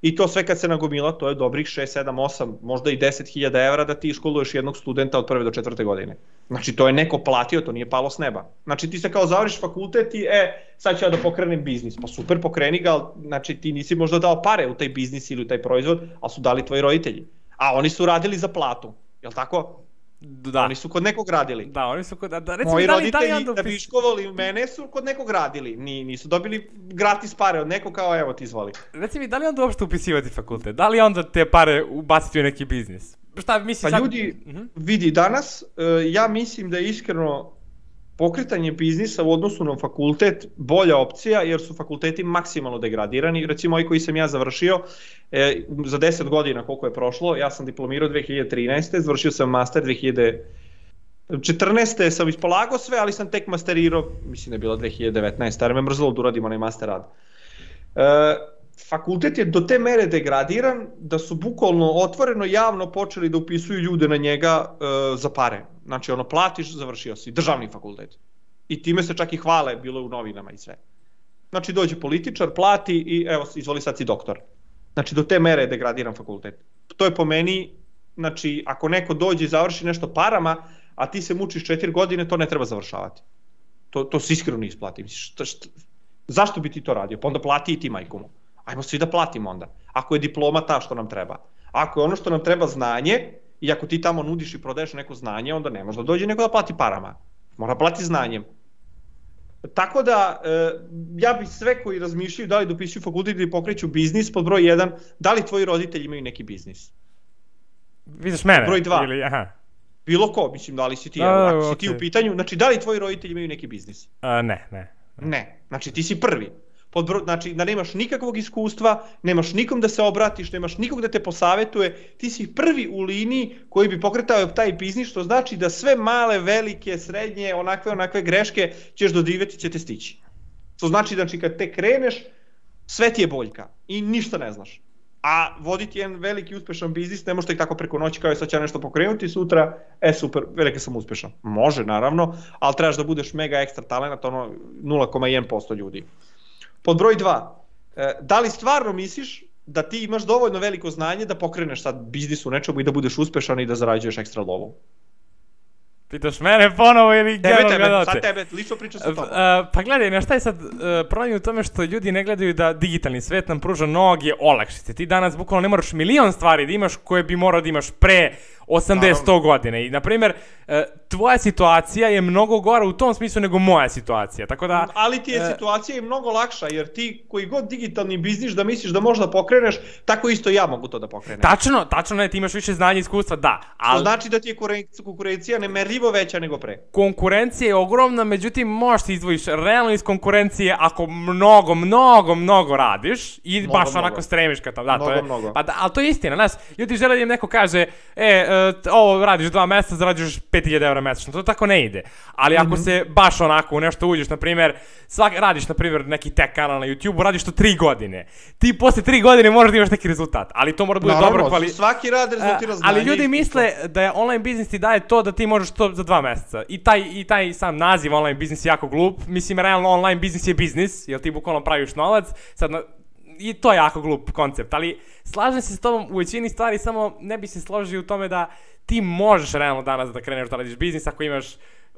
I to sve kad se nagomila, to je dobrih 6, 7, 8, možda i 10.000 evra da ti školuješ jednog studenta od 1. do 4. godine. Znači to je neko platio, to nije palo s neba. Znači ti se kao završiš fakultet i sad ću ja da pokrenem biznis. Pa super, pokreni ga, ali znači ti nisi možda dao pare u taj biznis ili u taj proizvod, ali su dali tvoji roditelji. A oni su radili za platu, jel tako? Da. Oni su kod nekog radili. Da, oni su kod... Moji roditelji da bi školovali mene su kod nekog radili. Nisu dobili gratis pare od nekog kao evo ti izvoli. Reci mi, da li onda uopšte upisivati fakultet? Da li onda te pare ubaciti u neki biznis? Šta misliš? Pa ljudi, vidi, danas ja mislim da je iskreno pokretanje biznisa u odnosu na fakultet bolja opcija jer su fakulteti maksimalno degradirani. Recimo ovaj koji sam ja završio za 10 godina koliko je prošlo, ja sam diplomirao 2013. Završio sam master 2014. sam ispolagao sve, ali sam tek masterirao, mislim da je bila 2019. jer me mrzelo da uradim onaj master rad. Fakultet je do te mere degradiran da su bukvalno otvoreno javno počeli da upisuju ljude na njega za pare. Znači ono platiš, završio si, državni fakultet. I time se čak i hvale, bilo je u novinama i sve. Znači dođe političar, plati i evo izvoli sad si doktor. Znači do te mere je degradiran fakultet. To je po meni, znači ako neko dođe i završi nešto parama, a ti se mučiš 4 godine, to ne treba završavati. To se iskreno ne isplati. Zašto bi ti to radio? Pa onda plati i ti majkomu. Ajmo svi da platimo onda. Ako je diploma ta što nam treba. Ako je ono što nam treba znanje I ako ti tamo nudiš i prodaješ neko znanje, onda ne može da dođe neko da plati parama. Mora plati znanjem. Tako da, ja bih sve koji razmišljaju da li da upisuju fakultet ili pokreću biznis, pod broj 1, da li tvoji roditelji imaju neki biznis? Vidiš mene? Broj 2, ili, aha. Bilo ko, mislim, da li si ti, ako si ti u pitanju, znači da li tvoji roditelji imaju neki biznis? Ne, znači ti si prvi. Znači da nemaš nikakvog iskustva, nemaš nikom da se obratiš, nemaš nikog da te posavetuje, ti si prvi u liniji koji bi pokretao taj biznis, što znači da sve male, velike, srednje, onakve greške ćeš doživjeti, će te stići. To znači da kad te kreneš, sve ti je boljka i ništa ne znaš. A voditi jedan veliki uspešan biznis ne možeš tek tako preko noći kao je sad će nešto pokrenuti sutra, super, velike sam uspešan. Može naravno, ali trebaš da budeš mega ekstra talent, ono 0,1% ljudi. Pod broj 2, da li stvarno misliš da ti imaš dovoljno veliko znanje da pokreneš sad biznis u nečemu i da budeš uspešan i da zarađuješ ekstra lovu? Pitaš mene ponovo ili gledalce? Sad tebe, lično pričam sa tobom. Pa gledaj, šta je sad problem u tome što ljudi ne gledaju da digitalni svet nam pruža mnoge olakšice. Ti danas bukvalno ne moraš milion stvari da imaš koje bi morao da imaš pre 80-100 godine. I, na primjer, tvoja situacija je mnogo gora u tom smislu nego moja situacija, tako da... Ali ti je situacija i mnogo lakša, jer ti koji god digitalni biznis da misliš da možeš da pokreneš, tako isto ja mogu to da pokrenem. Tačno je, ti imaš više znanja i iskustva, da. To znači da ti je konkurencija nemerljivo veća nego pre. Konkurencija je ogromna, međutim možeš ti izdvojiš realno iz konkurencije ako mnogo radiš i baš onako stremiš ka tamo. Mnogo. Ali to je istina, znaš, ljudi žele da im neko kaže, ovo radiš 2 meseca, zarađuješ 5000 € mesečno, to tako ne ide. Ali ako se baš onako u nešto uđeš, na primjer, radiš na primjer neki tech kanal na YouTube-u, radiš to 3 godine. Ti posle 3 godine možeš da imaš neki rezultat, ali to mora da bude dobro kvalitet. Svaki rad rezultira znanje. Ali ljudi misle da je online biznis ti daje to da ti možeš to za 2 meseca. I taj sam naziv online biznis je jako glup. Mislim, realno online biznis je biznis, jer ti bukvalno praviš novac. I to je jako glup koncept, ali slažem se s tobom u većini stvari, samo ne bi se složio u tome da ti možeš realno danas da kreneš da radiš biznis ako imaš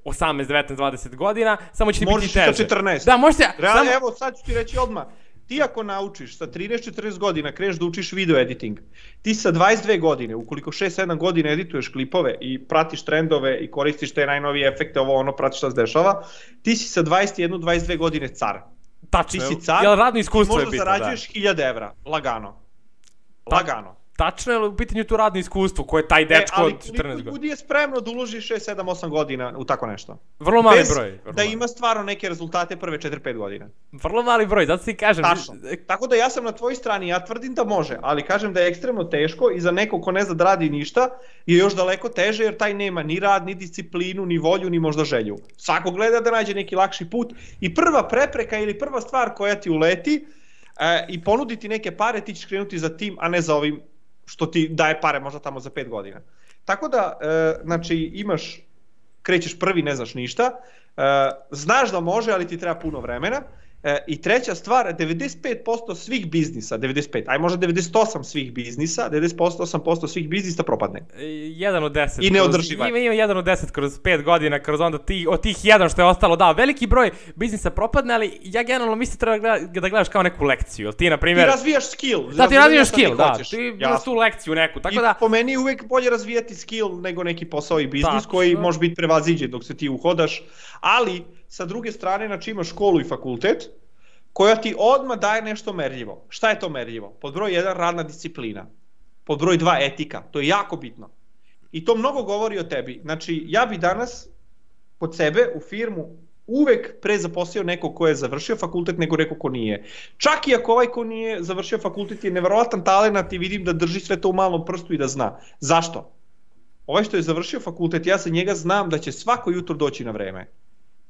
18, 19, 20 godina, samo će ti biti teže. Možeš i sa 14. Da, možeš realno, evo, sad ću ti reći odmah. Ti ako naučiš sa 13-14 godina kreneš da učiš video editing, ti sa 22 godine, ukoliko 6-7 godina edituješ klipove i pratiš trendove i koristiš te najnovije efekte, pratiš šta se dešava, ti si sa 21-22 godine car. Tačno, ti si car, jel radno iskustvo je bitno, da. Možda zarađuješ 1000 €, lagano. Tačno je u pitanju tu radno iskustvo, koje je taj dečko od 14 godina. Ali ljudi je spremno da uloži 6, 7, 8 godina u tako nešto. Vrlo mali broj. Da ima stvarno neke rezultate prve 4-5 godina. Vrlo mali broj, zato ti kažem. Tačno. Tako da ja sam na tvojoj strani, ja tvrdim da može, ali kažem da je ekstremno teško i za nekog ko ne zna da radi ništa je još daleko teže jer taj nema ni rad, ni disciplinu, ni volju, ni možda želju. Svako gleda da nađe neki lakši put i prva prepreka ili prva stvar koja ti uleti i ponuditi neke pare, ti ćeš krenuti za tim, a ne za ovim što ti daje pare možda tamo za 5 godina. Tako da, znači, krećeš prvi, ne znaš ništa, znaš da može, ali ti treba puno vremena. I treća stvar, 95% svih biznisa, 95, aj možda 98 svih biznisa, 98% svih biznisa propadne. 1 od 10. I neodrživa. Ima 1 od 10 kroz 5 godina, kroz onda od tih 1 što je ostalo, da, veliki broj biznisa propadne, ali ja generalno mislim treba da gledaš kao neku lekciju. Ti, na primjer... Ti razvijaš skill. Da, ti razvijaš skill, da. Ti imaš tu lekciju neku, tako da... I po meni je uvek bolje razvijati skill nego neki posao i biznis koji može biti prevaziđen dok se ti uhodaš, ali sa druge strane, znači imaš školu i fakultet, koja ti odmah daje nešto merljivo. Šta je to merljivo? Pod broj 1, radna disciplina. Pod broj 2, etika. To je jako bitno. I to mnogo govori o tebi. Znači, ja bi danas kod sebe u firmu uvek pre zaposlio nekog ko je završio fakultet nego neko ko nije. Čak i ako ovaj ko nije završio fakultet je neverovatan talenat i vidim da drži sve to u malom prstu i da zna. Zašto? Ovaj što je završio fakultet, ja za njega znam da će svako jutro doći na vreme.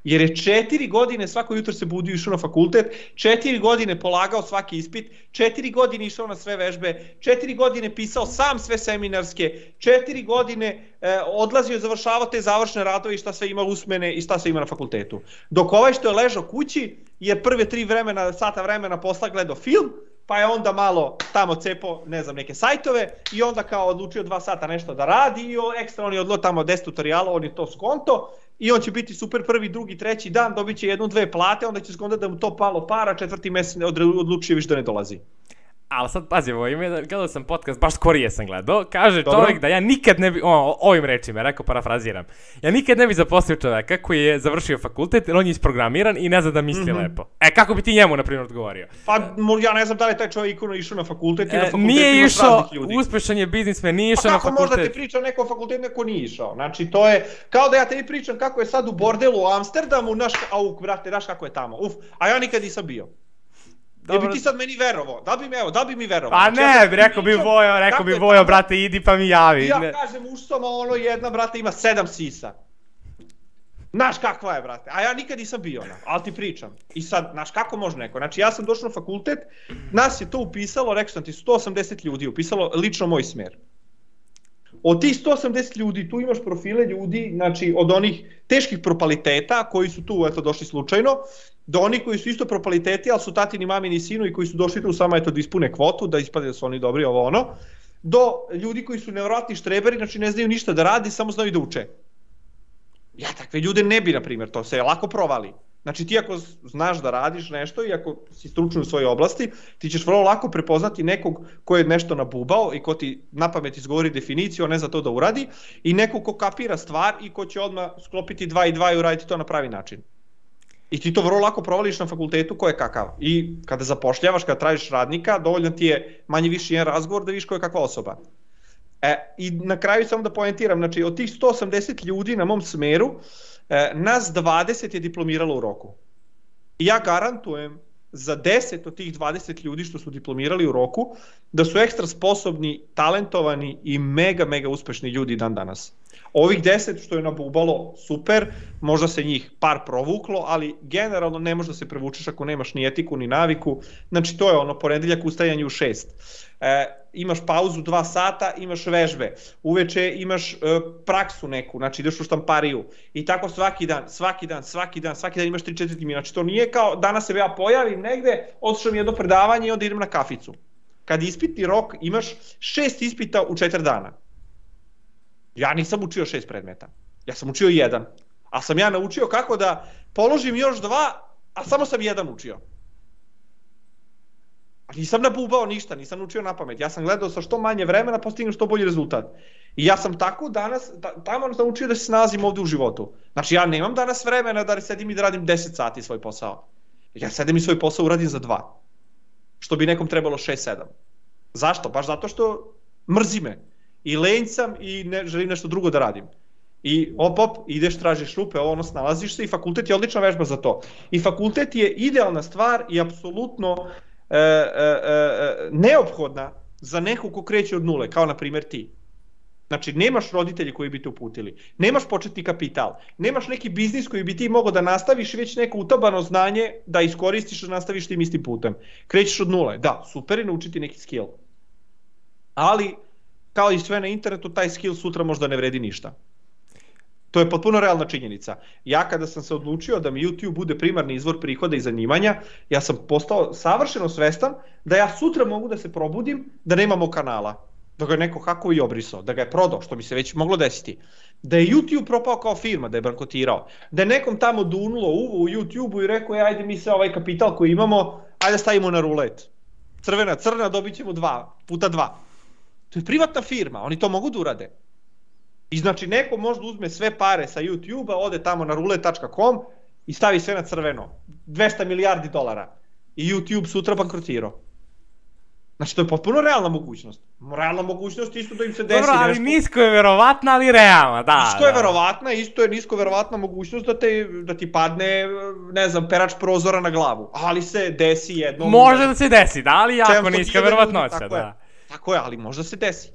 Jer je 4 godine svako jutro se budio i išao na fakultet, 4 godine polagao svaki ispit, 4 godine išao na sve vežbe, 4 godine pisao sam sve seminarske, 4 godine odlazio i završavao te završne radove i šta sve ima usmene i šta sve ima na fakultetu. Dok ovaj što je ležao kući je prve 3 sata vremena posla gledao film, pa je onda malo tamo cepao, ne znam, neke sajtove i onda kao odlučio 2 sata nešto da radi i ekstra on je odlo tamo 10 tutoriala, on je to skonto i on će biti super prvi, drugi, treći dan, dobit će 1-2 plate, onda će skonto da mu to palo para, 4. mesec odlučio više da ne dolazi. Ali sad pazimo, gledao sam podcast, baš skorije sam gledao, kaže čovjek da ja nikad ne bi, ovim rečima, rekao parafraziram, ja nikad ne bi zaposlio čovjeka koji je završio fakultet, jer on je isprogramiran i ne zna da misli lepo. Kako bi ti njemu, na primjer, odgovorio? Pa, ja ne znam da li taj čovjek išao na fakultet i na fakultet nije imaš išao, raznih ljudi. uspešan je biznismen, nije išao na fakultet. Pa kako možda ti priča neko fakultet, neko nije išao? Znači, to je, kao da ja tebi pričam kako je sad u bordelu u Amsterdamu, brate, znaš kako je tamo, a ja nikad nisam bio. Da bi ti sad meni verovao, da bi mi verovao. Pa ne, rekao bi Vojo, brate, idi pa mi javi. Ja kažem uštoma, jedna, brate, ima 7 sisa. Znaš kakva je, brate, a ja nikad nisam bio, ali ti pričam. I sad, znaš kako može neko, znači ja sam došao na fakultet, nas je to upisalo, rekao sam ti, 180 ljudi upisalo lično moj smer. Od tih 180 ljudi, tu imaš profile ljudi, znači od onih teških propaliteta koji su tu, eto, došli slučajno, do onih koji su isto propaliteti, ali su tatini, mamini, sinu i koji su došli tu samo, eto, da ispune kvotu, da ispade da su oni dobri, ovo ono, do ljudi koji su nevjerojatni štreberi, znači ne znaju ništa da radi, samo znaju da uče. Ja takve ljude ne bi, na primjer, to se lako provali. Znači ti ako znaš da radiš nešto i ako si stručan u svojoj oblasti, ti ćeš vrlo lako prepoznati nekog ko je nešto nabubao i ko ti na pamet izgovori definiciju, a ne za to da uradi, i nekog ko kapira stvar i ko će odmah sklopiti 2 i 2 i uraditi to na pravi način. I ti to vrlo lako provališ na fakultetu ko je kakav. I kada zapošljavaš, kada tražiš radnika, dovoljno ti je manje više jedan razgovor da vidiš ko je kakva osoba. I na kraju samo da poentiram, znači od tih 180 ljudi na mom smeru, nas 20 je diplomiralo u roku. I ja garantujem za 10 od tih 20 ljudi što su diplomirali u roku, da su ekstra sposobni, talentovani i mega uspešni ljudi dan danas. Ovih 10 što je nabubalo, super, možda se njih par provuklo, ali generalno ne možda se prevučeš ako nemaš ni etiku ni naviku. Znači to je ono, ponedeljak ustajanje u 6. Imaš pauzu 2 sata, imaš vežbe, uveče imaš praksu neku, znači ideš u štampariju i tako svaki dan imaš 3-4 timina. Znači to nije kao danas se ja pojavim negde, otišao mi jedno predavanje i onda idem na kaficu. Kad ispitni rok imaš 6 ispita u 4 dana. Ja nisam učio 6 predmeta, ja sam učio 1, a sam ja naučio kako da položim još 2, a samo sam 1 učio. Nisam nabubao ništa, nisam učio na pamet, ja sam gledao sa što manje vremena postignem što bolji rezultat. I ja sam tako danas, tamo sam učio da se snalazim ovde u životu. Znači ja nemam danas vremena da sedim i da radim 10 sati svoj posao. Ja sedim i svoj posao uradim za 2. Što bi nekom trebalo 6-7. Zašto? Baš zato što mrzi me. I lenj sam i želim nešto drugo da radim. I ideš, tražiš rupe, snalaziš se i fakultet je odlična vežba za to. I fakultet je idealna stvar i apsolutno neophodna za nekog ko kreće od nule, kao na primjer ti. Znači, nemaš roditelji koji bi te uputili, nemaš početni kapital, nemaš neki biznis koji bi ti mogao da nastaviš i već neko utabano znanje da iskoristiš da nastaviš tim istim putem. Krećeš od nule, da, super je naučiti neki skill. Ali, kao i sve na internetu, taj skill sutra možda ne vredi ništa. To je potpuno realna činjenica. Ja kada sam se odlučio da mi YouTube bude primarni izvor prihoda i zanimanja, ja sam postao savršeno svestan da ja sutra mogu da se probudim da nemamo kanala. Da ga je neko hakovao i obrisao, da ga je prodao, što bi se već moglo desiti. Da je YouTube propao kao firma, da je bankrotirao. Da je nekom tamo dunulo uvo u YouTube-u i rekao, ajde mi se ovaj kapital koji imamo, ajde stavimo na rulet. Crna, dobit ćemo 2 puta 2. To je privatna firma, oni to mogu da urade. I znači neko možda uzme sve pare sa YouTube-a, ode tamo na roulette.com i stavi sve na crveno. 200 milijardi dolara. I YouTube sutra bankrotirao. Znači to je potpuno realna mogućnost. Realna mogućnost isto da im se desi nešto. Dobro, ali nisko je verovatna, ali realna, da. Nisko je verovatna, isto je nisko verovatna mogućnost da ti padne, ne znam, perač prozora na glavu. Ali se desi jednom. Može da se desi, da, ali jako niska verovatnoća, da. Tako je, ali možda se desi.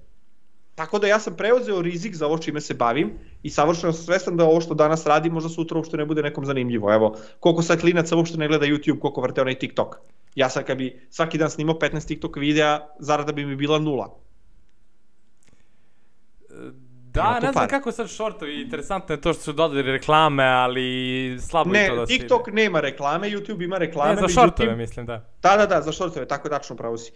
Tako da ja sam preuzeo rizik za ovo čime se bavim i savršeno sam svestan da ovo što danas radim možda sutra uopšte ne bude nekom zanimljivo. Evo, koliko sad klinaca uopšte ne gleda YouTube, koliko vrte onaj TikTok. Ja sad kad bi svaki dan snimao 15 TikTok videa, zarada bi mi bila 0. Da, ne znam kako sad shortovi, interesantno je to što su dodali reklame, ali slabo je to da se ide. Ne, TikTok nema reklame, YouTube ima reklame. Ne, za shortove mislim, da. Da, za shortove, tako je tačno, pravo si.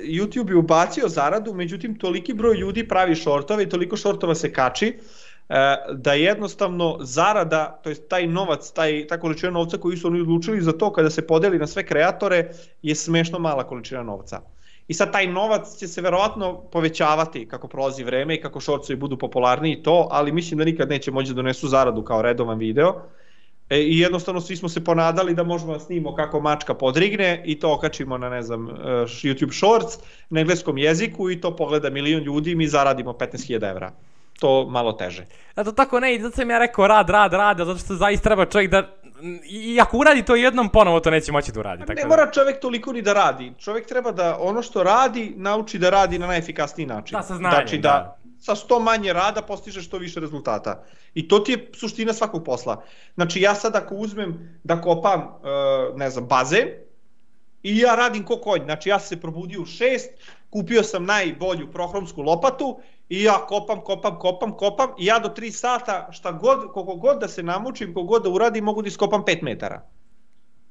YouTube je ubacio zaradu, međutim toliki broj ljudi pravi shortove i toliko shortova se kači da jednostavno zarada, to jest taj novac, ta količina novca koju su oni odlučili za to kada se podeli na sve kreatore je smešno mala količina novca. I sad taj novac će se verovatno povećavati kako prolazi vreme i kako shortsovi budu popularniji i to, ali mislim da nikad neće moći da donesu zaradu kao redovan video. I jednostavno svi smo se ponadali da možemo da snimimo kako mačka podrigne i to okačimo na, ne znam, YouTube Shorts na engleskom jeziku i to pogleda 1 milion ljudi i mi zaradimo 15.000 evra. To malo teže. Zato tako ne, zato sam ja rekao rad, zato što zaista treba čovjek da, i ako uradi to jednom, ponovo to neće moći da uradi. Ne mora čovjek toliko ni da radi. Čovjek treba da ono što radi, nauči da radi na najefikasniji način. Da, sa znanjem, znači da sa 100 manje rada postižeš što više rezultata. I to ti je suština svakog posla. Znači ja sad ako uzmem da kopam, ne znam, bazen, i ja radim ko konj, znači ja sam se probudio u 6, kupio sam najbolju prohromsku lopatu i ja kopam i ja do 3 sata koliko god da se namučim, koliko god da uradim, mogu da iskopam 5 metara.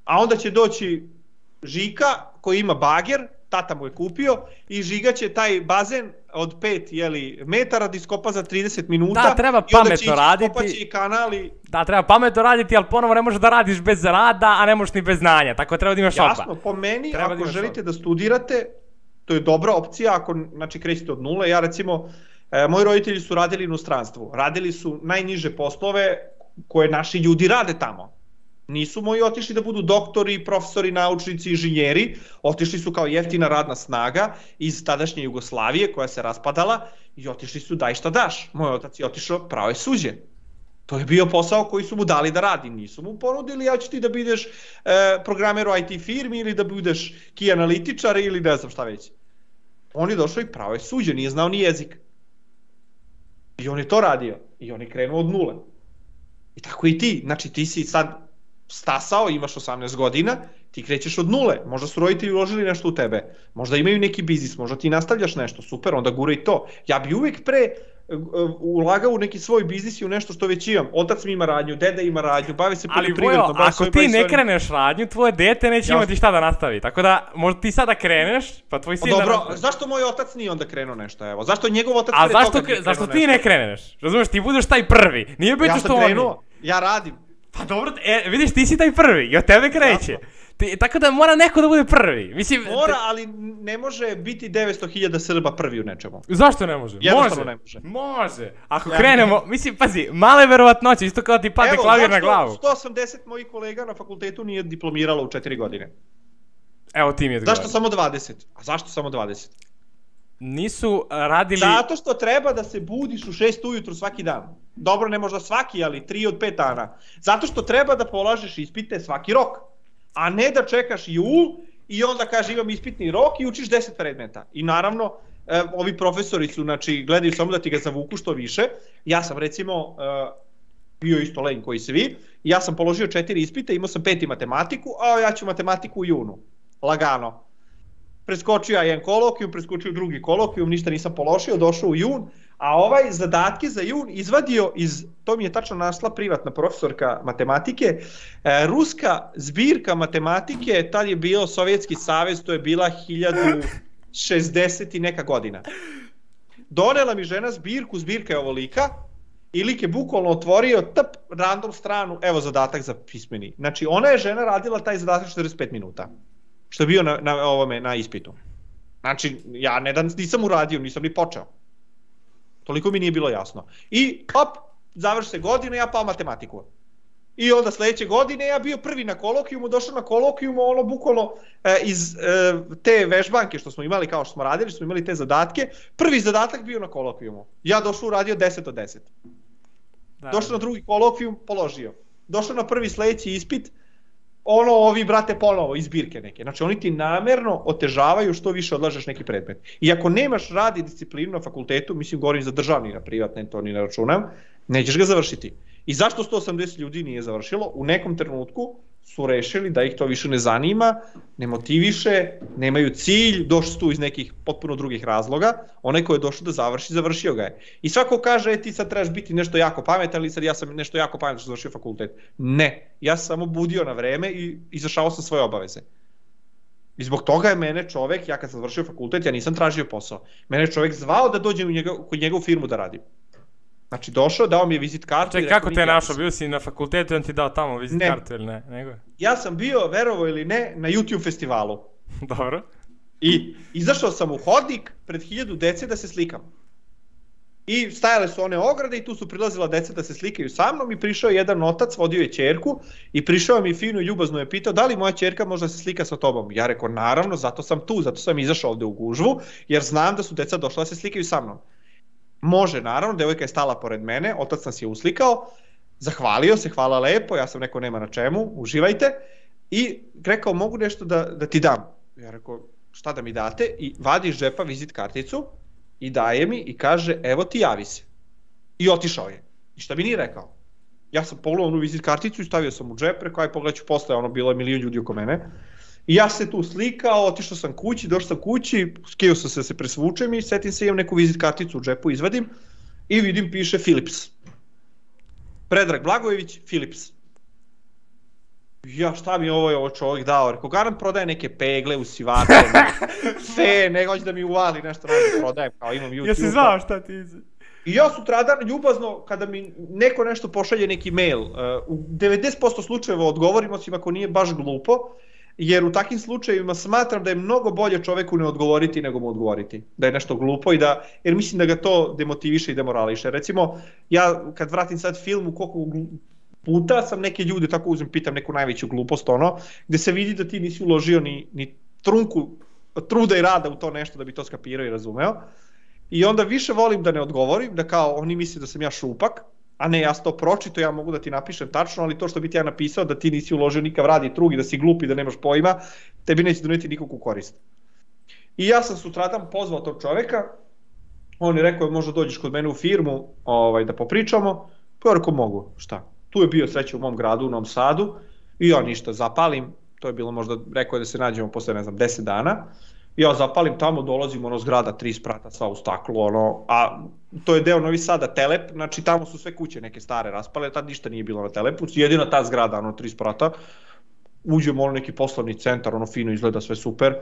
A onda će doći Žika koji ima bager, tata mu je kupio i Žiga će taj bazen od 5 metara da iskopa za 30 minuta. Da, treba pametno raditi. I onda će i kanali. Da, treba pametno raditi, ali ponovo ne možeš da radiš bez rada, a ne možeš ni bez znanja, tako treba da imaš oba. Jasno, po meni, ako želite da studirate, to je dobra opcija, ako znači krećete od nule. Ja recimo, moji roditelji su radili u inostranstvu, radili su najniže poslove koje naši ljudi rade tamo. Nisu moji otišli da budu doktori, profesori, naučnici, inženjeri, otišli su kao jeftina radna snaga iz tadašnje Jugoslavije koja se raspadala i otišli su daj šta daš. Moj otac je otišao pravo je suđe. To je bio posao koji su mu dali da radi, nisu mu ponudili ja ću ti da budeš programer u IT firmi ili da budeš key analitičar ili ne znam šta već. On je došao i pravo je suđe, nije znao ni jezik. I on je to radio i on je krenuo od nule. I tako i ti, znači ti si sad stasao, imaš 18 godina, ti krećeš od nule, možda su roditelji uložili nešto u tebe, možda imaju neki biznis, možda ti nastavljaš nešto, super, onda gura i to. Ja bi uvek pre ulagao u neki svoj biznis i u nešto što već imam. Otac mi ima radnju, deda ima radnju, bavi se poljoprivredom. Ali Vojo, ako ti ne kreneš radnju, tvoje dete neće imati šta da nastavi, tako da možda ti sada kreneš, pa tvoj sin da nastavi. Dobro, zašto moj otac nije onda krenuo nešto, evo? Zašto njegov otac pre toga nije krenuo nešto? Zašto ti ne kreneš? Razumeš, ti budeš taj prvi, nije bitno što oni. Ja sam krenuo, ja radim. Pa dobro, vidiš, ti si taj prvi i od tebe kreće. Tako da mora neko da bude prvi. Mislim, mora, ali ne može biti 900.000 Srba prvi u nečemu. Zašto ne može? Jednostavno ne može. Može. Ako krenemo, mislim, pazi, male verovatnoće, isto kao ti padne klavir na glavu. Evo, 180 mojih kolega na fakultetu nije diplomiralo u 4 godine. Evo ti mi je odgovorio. Zašto samo 20? A zašto samo 20? Nisu radili... Zato što treba da se budiš u 6 ujutru svaki dan. Dobro, ne možda svaki, ali 3 od 5 dana. Zato što treba da polažeš ispite svaki rok. A ne da čekaš jul i onda kaže imam ispitni rok i učiš 10 predmeta. I naravno, ovi profesori su, znači, gledaju samo da ti ga zavuku što više. Ja sam recimo bio isto lenj koji svi. Ja sam položio 4 ispite, imao sam 5 matematiku, a ja ću matematiku u junu. Lagano. Preskočio ja jedan kolokvijum, preskočio drugi kolokvijum, ništa nisam položio, došao u jun, a ovaj zadatke za jun izvadio iz, to mi je tačno našla privatna profesorka matematike, ruska zbirka matematike, tad je bio Sovjetski savez, to je bila 1060 i neka godina. Donela mi žena zbirku, zbirka je ovolika, i lik je bukvalno otvorio random stranu, evo zadatak za pismeni. Znači ona je žena radila taj zadatak 45 minuta. Što je bio na ispitu. Znači, ja nisam uradio, nisam ni počeo. Toliko mi nije bilo jasno. I, završi se godina, ja pao matematiku. I onda sledeće godine ja bio prvi na kolokvijumu, došao na kolokvijumu, ono bukvalno iz te vežbanke što smo imali, kao što smo radili, smo imali te zadatke, prvi zadatak bio na kolokvijumu. Ja došao uradio 10 od 10. Došao na drugi kolokvijum, položio. Došao na prvi sledeći ispit, ovi brate ponovo iz zbirke neke. Znači oni ti namerno otežavaju što više odlažeš neki predmet. I ako nemaš rad i disciplinu na fakultetu, mislim govorim za državni, na privatne, to ni ne računam, nećeš ga završiti. I zašto 180 ljudi nije završilo? U nekom trenutku su rešili da ih to više ne zanima, ne motiviše, nemaju cilj, došli su tu iz nekih potpuno drugih razloga, onaj ko je došao da završi, završio ga je. I svako kaže, ti sad trebaš biti nešto jako pametan, ali sad ja sam nešto jako pametan što završio fakultet. Ne, ja sam samo budio na vreme i izvršavao sam svoje obaveze. I zbog toga je mene čovek, ja kad sam završio fakultet, ja nisam tražio posao, mene čovek zvao da dođem kod njegovu firmu da radim. Znači došao, dao mi je vizit kartu. Čekaj, kako te je našao? Bio si na fakultetu i on ti dao tamo vizit kartu ili ne? Nego? Ja sam bio, verovo ili ne, na YouTube festivalu. Dobro. I izašao sam u hodnik pred 1000 dece da se slikam. I stajale su one ograde i tu su prilazila deca da se slikaju sa mnom i prišao je jedan otac, vodio je ćerku i prišao mi fino i ljubazno je pitao da li moja ćerka može da se slika sa tobom. Ja rekao naravno, zato sam tu, zato sam izašao ovde u gužvu jer znam da su deca došla da se slikaju sa mnom. Može, naravno, devojka je stala pored mene, otac nas je uslikao, zahvalio se, hvala lepo, ja sam rekao nema na čemu, uživajte i rekao mogu nešto da ti dam. Ja rekao šta da mi date i vadi iz džepa vizit karticu i daje mi i kaže evo ti javi se. I otišao je. I šta mi nije rekao? Ja sam pogledao onu vizit karticu i stavio sam u džep, rekao aj pogledat ću posle, ono bilo je milion ljudi oko mene. I ja se tu slikao, otišao sam kući, došao sam kući, skio sam se da se presvučem i setim se imam neku vizit karticu u džepu, izvadim i vidim piše Philips. Predrag Blagojević, Philips. Ja šta mi ovo čovjek dao, rekao garant prodaje neke pegle, usivače, ne hoće da mi uvali nešto da prodajem, kao imam YouTube. Jesi znao šta ti I ja sutradan ljubazno, kada mi neko nešto pošalje neki mail, u 90% slučajeva odgovorim, osim ako nije baš glupo, jer u takvim slučajevima smatram da je mnogo bolje čoveku ne odgovoriti nego mu odgovoriti. Da je nešto glupo jer mislim da ga to demotiviše i demorališe. Recimo, ja kad vratim sad film u koliko puta sam neke ljude, tako uzem, pitam neku najveću glupost, gde se vidi da ti nisi uložio ni trunku truda i rada u to nešto da bi to skapirao i razumeo. I onda više volim da ne odgovorim, da kao oni misle da sam ja šupak, a ne ja sam to pročito, ja mogu da ti napišem tačno, ali to što bi ti ja napisao da ti nisi uložio nikav rad i trug i da si glup i da nemaš pojma, tebi neće doneti nikakvu korist. I ja sam sutradan pozvao tog čoveka, on je rekao možda dođeš kod mene u firmu da popričamo, pa ja rekao mogu, šta? Tu je bio sreće u mom gradu, u Novom Sadu, i ja ništa, zapalim, to je bilo možda, rekao je da se nađemo posle, 10 dana, ja zapalim tamo, dolazim, zgrada 3 sprata, sva u staklu, a to je deo Novi Sada, Telep, znači tamo su sve kuće neke stare raspale, tad ništa nije bilo na Telepu, jedina ta zgrada, 3 sprata, uđemo neki poslovni centar, fino izgleda, sve super,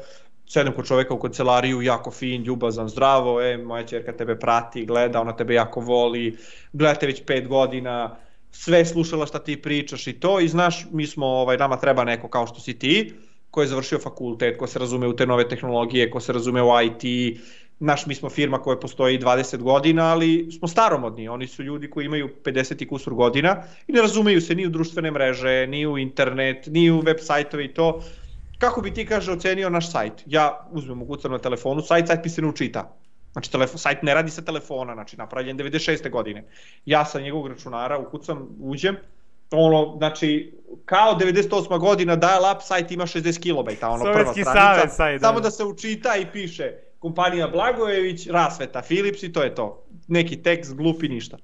sedem kod čoveka u kancelariju, jako fin, ljubazan, zdravo, moja ćerka tebe prati, gleda, ona tebe jako voli, gledate već 5 godina, sve slušala šta ti pričaš i to, i znaš, mi smo, nama treba neko kao što si ti, ko je završio fakultet, ko se razume u te nove tehnologije, ko se razume u IT, mi smo firma koja postoji 20 godina, ali smo staromodni, oni su ljudi koji imaju 50 i kusur godina i ne razumeju se ni u društvene mreže, ni u internet, ni u web sajtove i to. Kako bi ti, kaže, ocenio naš sajt? Ja uzmem, ukucam na telefonu, sajt mi se ne učita. Znači, sajt ne radi sa telefona, znači, napravljen 96. godine. Ja sa njegovog računara ukucam, uđem, znači, kao 98. godina dial-up sajt ima 60 kilobajta, prva stranica, samo da se učita i piše kompanija Blagojević, rasveta, Philips i to je to. Neki tekst, glupi, ništa.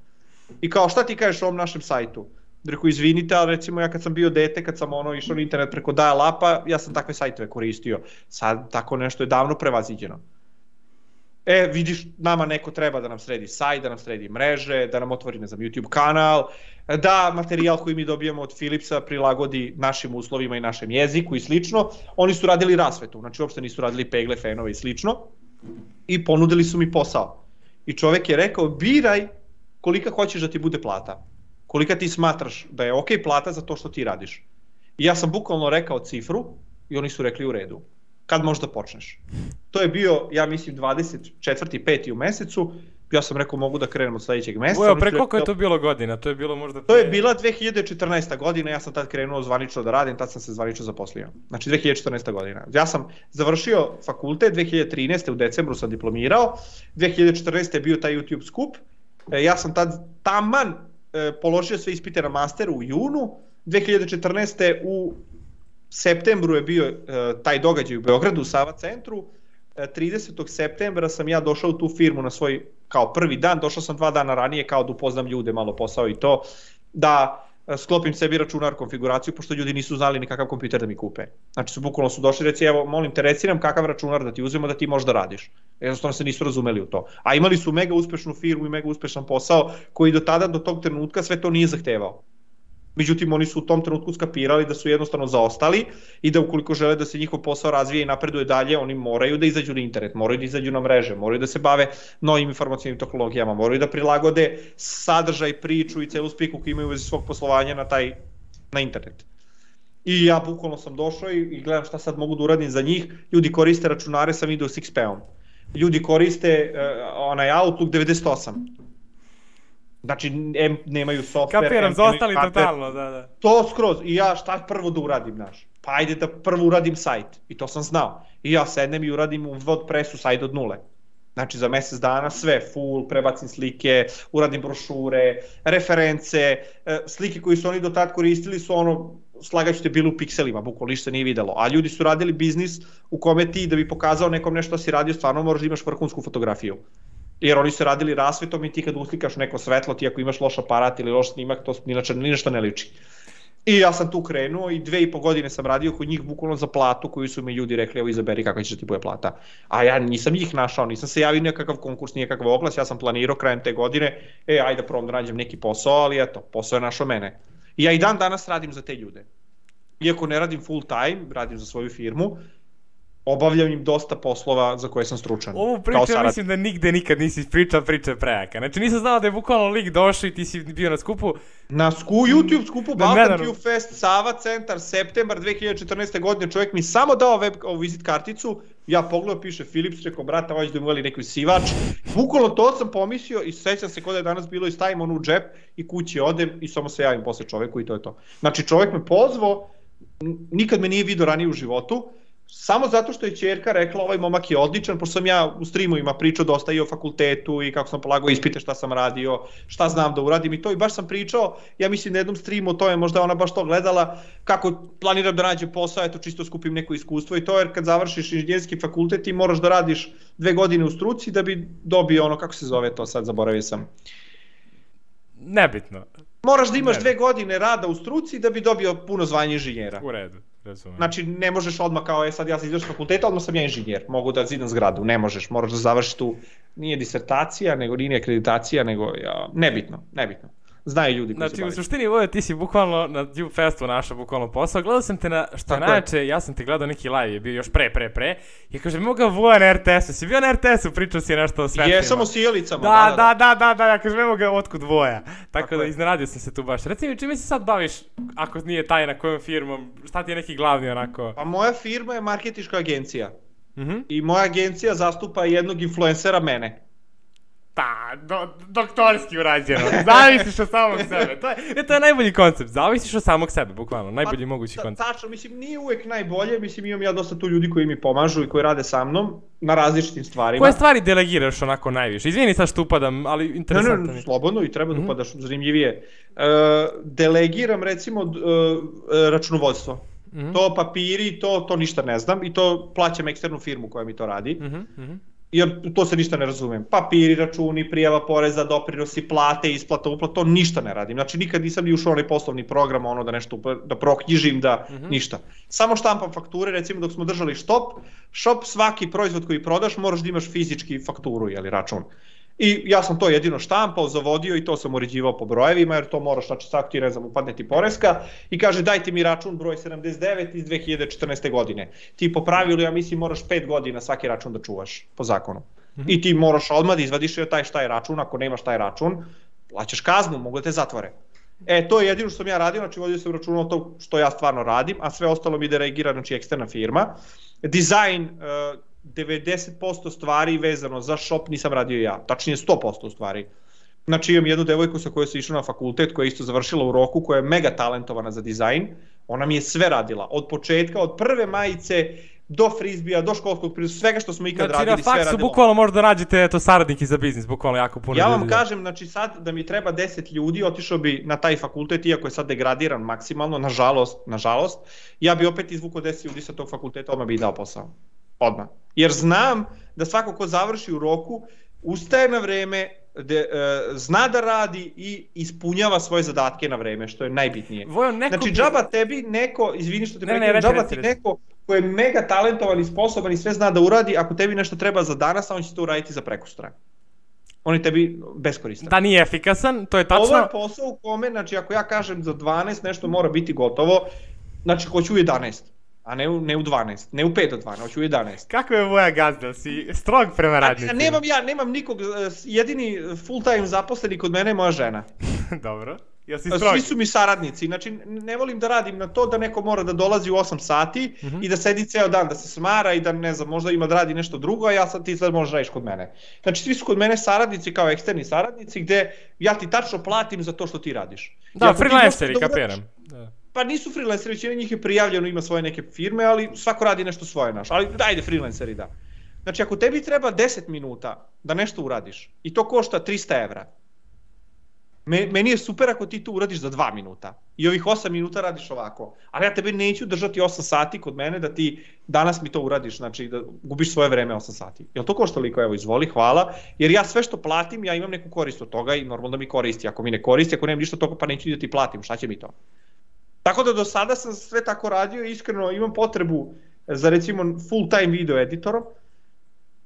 I kao, šta ti kažeš o ovom našem sajtu? Rekao, izvinite, ali recimo ja kad sam bio dete, kad sam išao na internet preko dial-upa, ja sam takve sajtove koristio. Sad tako nešto je davno prevaziđeno. Vidiš, nama neko treba da nam sredi sajt, da nam sredi mreže, da nam otvori, YouTube kanal, da materijal koji mi dobijemo od Philipsa prilagodi našim uslovima i našem jeziku i slično. Oni su radili rasvetu, znači uopšte nisu radili pegle, fenove i slično, i ponudili su mi posao. I čovek je rekao, biraj kolika hoćeš da ti bude plata, kolika ti smatraš da je ok plata za to što ti radiš. I ja sam bukvalno rekao cifru i oni su rekli u redu. Kad možda počneš? To je bio, ja mislim, 24. 5. u mesecu, ja sam rekao mogu da krenem od sledećeg meseca. Pre koliko je to bilo godina? To je bilo možda... To je bila 2014. godina, ja sam tad krenuo zvanično da radim, tad sam se zvanično zaposlio. Znači 2014. godina. Ja sam završio fakultet, 2013. u decembru sam diplomirao, 2014. je bio taj YouTube skup, ja sam tad taman položio sve ispite na masteru u junu, 2014. u septembru je bio taj događaj u Beogradu, u Sava centru, 30. septembra sam ja došao u tu firmu na svoj, kao prvi dan, došao sam 2 dana ranije kao da upoznam ljude, malo posao i to, da sklopim sebi računar, konfiguraciju, pošto ljudi nisu znali ni kakav kompjuter da mi kupe. Znači bukvalno su došli, reci, evo, molim te, reci nam kakav računar da ti uzmemo da ti možda radiš. Jednostavno se nisu razumeli u to. A imali su mega uspešnu firmu i mega uspešan posao koji do tada, do tog trenutka sve to nije zahtevao. Međutim, oni su u tom trenutku skapirali da su jednostavno zaostali i da ukoliko žele da se njihov posao razvije i napreduje dalje, oni moraju da izađu na internet, moraju da izađu na mreže, moraju da se bave novim informacijnim tehnologijama, moraju da prilagode sadržaj, priču i celu sliku koju imaju u vezi svog poslovanja na internet. I ja bukvalno sam došao i gledam šta sad mogu da uradim za njih. Ljudi koriste računare sa Windows XP-om. Ljudi koriste onaj Outlook 98. Znači, nemaju software. Kapiram, zaostali totalno, da. To skroz. I ja šta prvo da uradim, znaš? Pa ajde da prvo uradim sajt. I to sam znao. I ja sednem i uradim u WordPressu sajt od nule. Znači, za mesec dana sve, full, prebacim slike, uradim brošure, reference, slike koje su oni do tad koristili su ono, slagaću te bili u pikselima, bukvalno ništa nije videlo. A ljudi su radili biznis u kome ti da bi pokazao nekom nešto si radio, stvarno moraš da imaš vrhunsku fotografiju. Jer oni su radili rasvetom i ti kad uslikaš neko svetlo, ti ako imaš loš aparat ili loš snimak, to ni nešto ne liči. I ja sam tu krenuo i 2,5 godine sam radio kod njih bukvalno za platu koju su mi ljudi rekli, evo izaberi kakva će ti bude plata. A ja nisam njih našao, nisam se javio nekakav konkurs, nikakav oglas, ja sam planirao krajem te godine, ajde da probam da nađem neki posao, ali eto, posao je našao mene. I ja i dan danas radim za te ljude. Iako ne radim full time, radim za svoju firmu, obavljam im dosta poslova za koje sam stručan. Ovu priču ja mislim da nigde nikad nisi priča je prejaka. Znači nisam znao da je bukvalno lik došao i ti si bio na skupu. Na YouTube skupu Balkan Q Fest, Sava centar, septembar 2014. godine, čovjek mi samo dao vizit karticu, ja pogledao, piše Philips, rekao, brate, ovaj da imali neki sivač. Bukvalno to sam pomislio i sećam se kada je danas bilo i stavim onu u džep i kući odem i samo se javim posle čoveku i to je to. Znači čovjek me pozvao, nikad me nije vidio ranije u životu, samo zato što je ćerka rekla ovaj momak je odličan, pošto sam ja u streamovima pričao dosta i o fakultetu i kako sam polagao ispite, šta sam radio, šta znam da uradim i to, i baš sam pričao, ja mislim na jednom streamu o tome, možda ona baš to gledala, kako planiram da nađem posao, eto čisto skupim neko iskustvo i to, jer kad završiš inženjerski fakultet ti moraš da radiš 2 godine u struci da bi dobio ono, kako se zove to sad, zaboravio sam. Nebitno. Moraš da imaš 2 godine rada u struci da bi dobio puno zvanje inženjera. U redu. Razumem. Znači ne možeš odmah kao sad ja sam izašao s fakulteta, odmah sam ja inženjer, mogu da zidam zgradu, ne možeš, moraš da završiš tu, nije disertacija, nego nije akreditacija, nego nebitno. Znaju ljudi koji se bavaju. Znači u suštini Vojo ti si bukvalno na Dube Festu našao bukvalno posao, gledao sam te na, što najče, ja sam te gledao neki live, je bio još pre, i kaže mogu ga Voja na RTS-u, si bio na RTS-u, pričao si nešto o svetlima. Jesam o sijelicama, da, ja kažem mogu ga otkud Voja, tako da iznenadio sam se tu baš. Reci mi čime se sad baviš, ako nije tajna kojom firmom, šta ti je neki glavni onako? Pa moja firma je marketinška agencija i moja agencija zastupa jednog influencera, mene. Pa, doktorski urađeno, zavisiš od samog sebe, to je najbolji koncept, zavisiš od samog sebe, bukvalno, najbolji mogući koncept. Tačno, mislim, nije uvek najbolje, mislim, imam ja dosta tu ljudi koji mi pomažu i koji rade sa mnom na različitim stvarima. Koje stvari delegiraš onako najviše? Izvini sad što upadam, ali interesantno. Ne, slobodno i treba da upadaš zanimljivije. Delegiram recimo računovodstvo. To papiri, to ništa ne znam i to plaćam eksternu firmu koja mi to radi. Jer to se ništa ne razumem. Papiri, računi, prijava poreza, doprinosi, plate, isplata, uplata, to ništa ne radim. Znači nikad nisam ni ušao onaj poslovni program, ono da nešto, da proknjižim, da ništa. Samo štampam fakture, recimo dok smo držali shop, svaki proizvod koji prodaš moraš da imaš fizički fakturu, jeli račun. I ja sam to jedino štampao, zavodio i to sam uređivao po brojevima, jer to moraš, znači svaki ti ne znam, upadne ti poreska i kaže dajte mi račun broj 79 iz 2014. godine. Ti po pravilu, ja mislim, moraš 5 godina svaki račun da čuvaš, po zakonu. I ti moraš odmah da izvadiš taj račun, ako nemaš taj račun, plaćaš kaznu, mogu da te zatvore. To je jedino što sam ja radio, znači vodio sam račun o to što ja stvarno radim, a sve ostalo mi delegira, znači eksterna firma. Dizajn, 90% stvari vezano za shop nisam radio ja, tačnije 100% stvari. Znači imam jednu devojku sa kojoj sam išao na fakultet, koja je isto završila u roku, koja je mega talentovana za dizajn, ona mi je sve radila, od početka, od prve majice, do frizbija, do školskog pristupa, svega što smo ikad radili, sve radila. Znači na faksu bukvalno možda nađete saradniki za biznis, bukvalno jako puno ljudi. Ja vam kažem, znači sad da mi treba 10 ljudi, otišao bi na taj fakultet, iako je sad degradiran maksimalno, nažalost, ja bi opet izvukao 10 ljudi sa tog fakulteta, odmah bi i dao posao. Odmah. Jer znam da svako ko završi u roku, ustaje na vreme, zna da radi i ispunjava svoje zadatke na vreme, što je najbitnije. Znači džaba tebi neko, izvini što te prekidam, džaba ti neko ko je mega talentovan i sposoban i sve zna da uradi, ako tebi nešto treba za danas, on će to uraditi za prekosutra. On je tebi beskoristan. Da, nije efikasan, to je tačno. Ovo je posao u kome, znači ako ja kažem za 12 nešto mora biti gotovo, znači hoću u 11, a ne u 12, ne u 5 do 12, hoću u 11. Kako je moja gazda, si strog prema radnicima. Nemam nikog, jedini full time zaposleni kod mene je moja žena. Dobro. Jel si strog? Svi su mi saradnici, znači ne volim da radim na to da neko mora da dolazi u 8 sati i da sedi ceo dan, da se smara i da ne znam, možda ima da radi nešto drugo, a ti sad možeš radiš kod mene. Znači svi su kod mene saradnici kao eksterni saradnici gde ja ti tačno platim za to što ti radiš. Da, freelanceri, kapiram. Pa nisu freelanceri, većina njih je prijavljeno, ima svoje neke firme, ali svako radi nešto svoje naš. Ali dajde freelanceri, da. Znači ako tebi treba 10 minuta da nešto uradiš i to košta 300 evra, meni je super ako ti to uradiš za 2 minuta i ovih 8 minuta radiš ovako, ali ja tebe neću držati 8 sati kod mene da ti danas mi to uradiš, znači da gubiš svoje vreme 8 sati. Jel to košta toliko? Evo, izvoli, hvala, jer ja sve što platim, ja imam neku korist od toga i normalno da mi koristi. Ako mi ne koristi, ako nemam ništa od toga, pa neću da ti platim, šta će mi to? Tako da do sada sam sve tako radio i iskreno imam potrebu za recimo full time video editorom,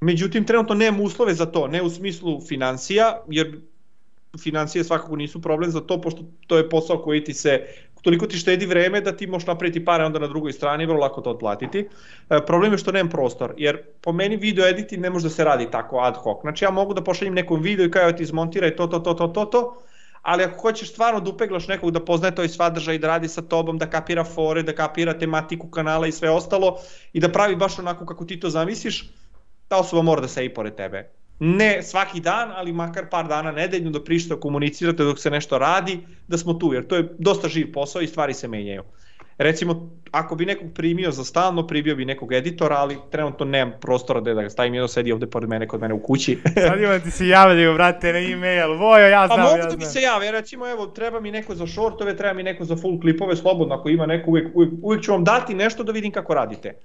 međutim trenutno nemam uslove za to, ne u smislu financija, jer financije svakako nisu problem za to, pošto to je posao koji ti se, toliko ti štedi vreme da ti možeš napraviti pare onda na drugoj strani, vrlo lako to otplatiti. Problem je što nemam prostor, jer po meni video editing ne može da se radi tako ad hoc. Znači ja mogu da pošaljem nekom video i kao ti izmontiraj to, ali ako hoćeš stvarno da upeglaš nekog da poznaje to i sadržaj, da radi sa tobom, da kapira fore, da kapira tematiku kanala i sve ostalo i da pravi baš onako kako ti to zamisliš, ta osoba mora da se i pored tebe. Ne svaki dan, ali makar par dana nedeljno da prišta komunicirate dok se nešto radi, da smo tu, jer to je dosta živ posao i stvari se menjaju. Recimo, ako bi nekog primio za stalno, primio bi nekog editora, ali trenutno nemam prostora da ga stavim, jedno sedi ovde pored mene, kod mene u kući. Sad imam ti se javljaju, brate, na e-mail, Vojo, ja znam, pa mogu da mi se jave, recimo, evo, treba mi neko za shortove, treba mi neko za full klipove, slobodno, ako ima neko, uvijek ću vam dati nešto da vidim kako radite.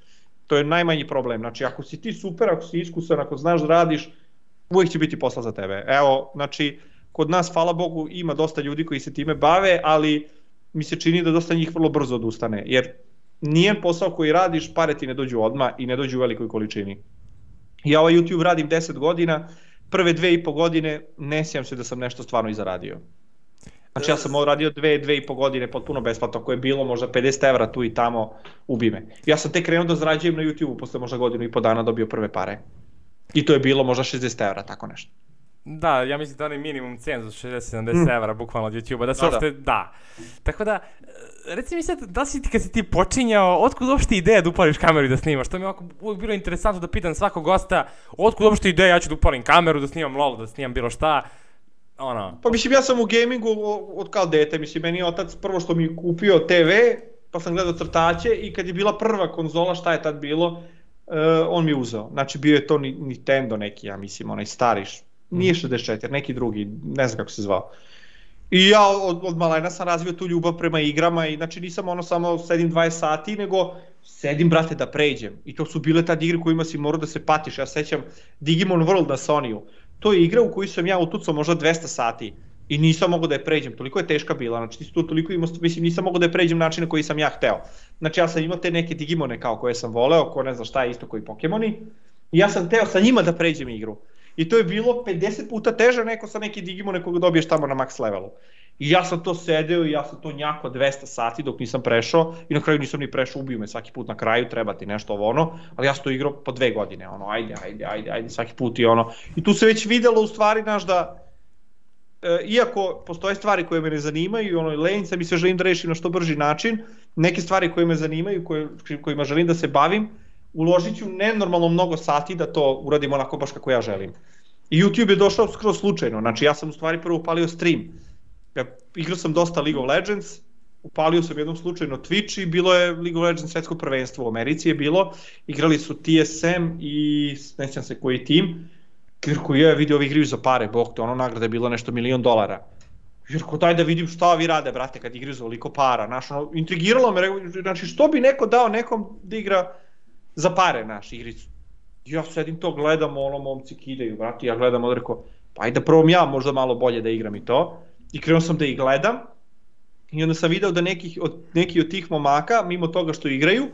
To je najmanji problem, znači, ako si ti super, ako si iskusan, ako znaš da radiš, uvijek će biti posla za tebe. Evo, znači, kod nas, hvala Bogu, ima dosta ljudi koji se time bave, ali mi se čini da dosta njih vrlo brzo odustane, jer nijedan posao koji radiš, pare ti ne dođu odmah i ne dođu u velikoj količini. Ja ovaj YouTube radim 10 godina, prve 2,5 godine ne sjećam se da sam nešto stvarno i zaradio. Znači ja sam radio 2,5 godine potpuno besplatno, ako je bilo možda 50 evra tu i tamo, ubi me. Ja sam tek krenuo da zarađujem na YouTube-u, posle možda 1,5 dana dobio prve pare. I to je bilo možda 60 evra, tako nešto. Da, ja mislim da onaj minimum cenzus 60-70 evra bukvalno od YouTube-a, da se uopšte, da. Tako da, reci mi sad, da si ti kad si ti počinjao, otkud uopšte ideja da upališ kameru i da snimaš? To mi je ovako uvijek bilo interesantno da pitam svakog gosta, otkud uopšte ideja, ja ću da upalim kameru, da snimam LOL, da snimam bilo šta, ono. Pa mislim, ja sam u gamingu od kao dete, mislim, meni je otac prvo što mi kupio TV, pa sam gledao crtaće i kad je bila prva konzola, šta je tad bilo, on mi je uzeo. Znači bio je to Nintendo neki, ja mislim, onaj stariš. Nije 64, neki drugi, ne znam kako se zvao. I ja od malena sam razvio tu ljubav prema igrama i znači nisam ono samo sedim 20 sati, nego sedim, brate, da pređem. I to su bile tad igre kojima si morao da se patiš. Ja sećam Digimon World na Sonyu. To je igra u koju sam ja utucao možda 200 sati i nisam mogao da je pređem. Toliko je teška bila, znači ti si tu toliko imao, mislim nisam mogao da je pređem način na koji sam ja hteo. Znači ja sam imao te neke Digimone kao koje sam voleo, ko ne zna šta je isto koji Pokemoni. I ja sam teo sa njima da pređem igru. I to je bilo 50 puta teže neko sa neki Digimone koga dobiješ tamo na max levelu. I ja sam to sedeo i ja sam to njako 200 sati dok nisam prešao i na kraju nisam ni prešao, ubio me svaki put na kraju, treba ti nešto ovo ono, ali ja sam to igrao po 2 godine, ono, ajde, svaki put i ono. I tu se već videlo u stvari, znaš, da iako postoje stvari koje me ne zanimaju, ono, lenj sam i sve želim da rešim na što brži način, neke stvari koje me zanimaju, kojima želim da se bavim, uložit ću nenormalno mnogo sati da to uradim onako baš kako ja želim. I YouTube je došao skroz slučajno, znači ja sam u stvari prvo upalio stream. Igrao sam dosta League of Legends, upalio sam jednom slučajno Twitch i bilo je League of Legends svetsko prvenstvo u Americi je bilo, igrali su TSM i ne sjećam se koji tim, jer koji je vidio ovi igraju za pare, bog te, ono nagrada je bilo nešto $1 milion. Jer ko daj da vidim šta vi rade, brate, kad igraju za ovoliko para, znaš, ono, intrigiralo me, znači što bi neko dao nekom da igra za pare, naš, igricu. Ja sedim to, gledam, ono, momci kidaju, brate, ja gledam, odreko, pa ajde da probam ja možda malo bolje da igram i to. I krenuo sam da ih gledam i onda sam video da neki od tih momaka, mimo toga što igraju,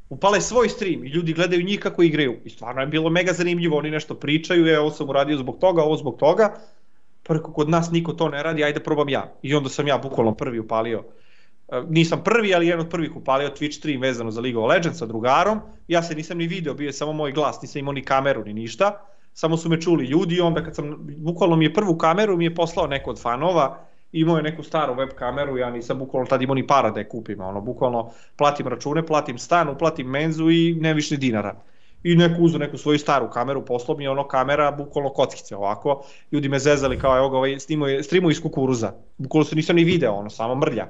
upale svoj stream i ljudi gledaju njih kako igraju. I stvarno je bilo mega zanimljivo, oni nešto pričaju, ovo sam uradio zbog toga, ovo zbog toga. Pa rekao, kod nas niko to ne radi, ajde probam ja. I onda sam ja bukvalno prvi upalio. Nisam prvi, ali jedan od prvih upalio Twitch stream vezano za League of Legends sa drugarom. Ja se nisam ni video, bio je samo moj glas, nisam imao ni kameru ni ništa. Samo su me čuli ljudi i onda kad sam, bukvalno mi je prvu kameru mi je poslao neko od fanova, imao je neku staru web kameru, ja nisam bukvalno tad imao ni para da je kupim, bukvalno platim račune, platim stan, uplatim menzu i ne više ni dinara. I neko uzeo neku svoju staru kameru, poslao mi je kamera, bukvalno kockice ovako, ljudi me zezali kao evo ga ovaj streamuje iz kukuruza, bukvalno se nisam ni video, samo mrlja.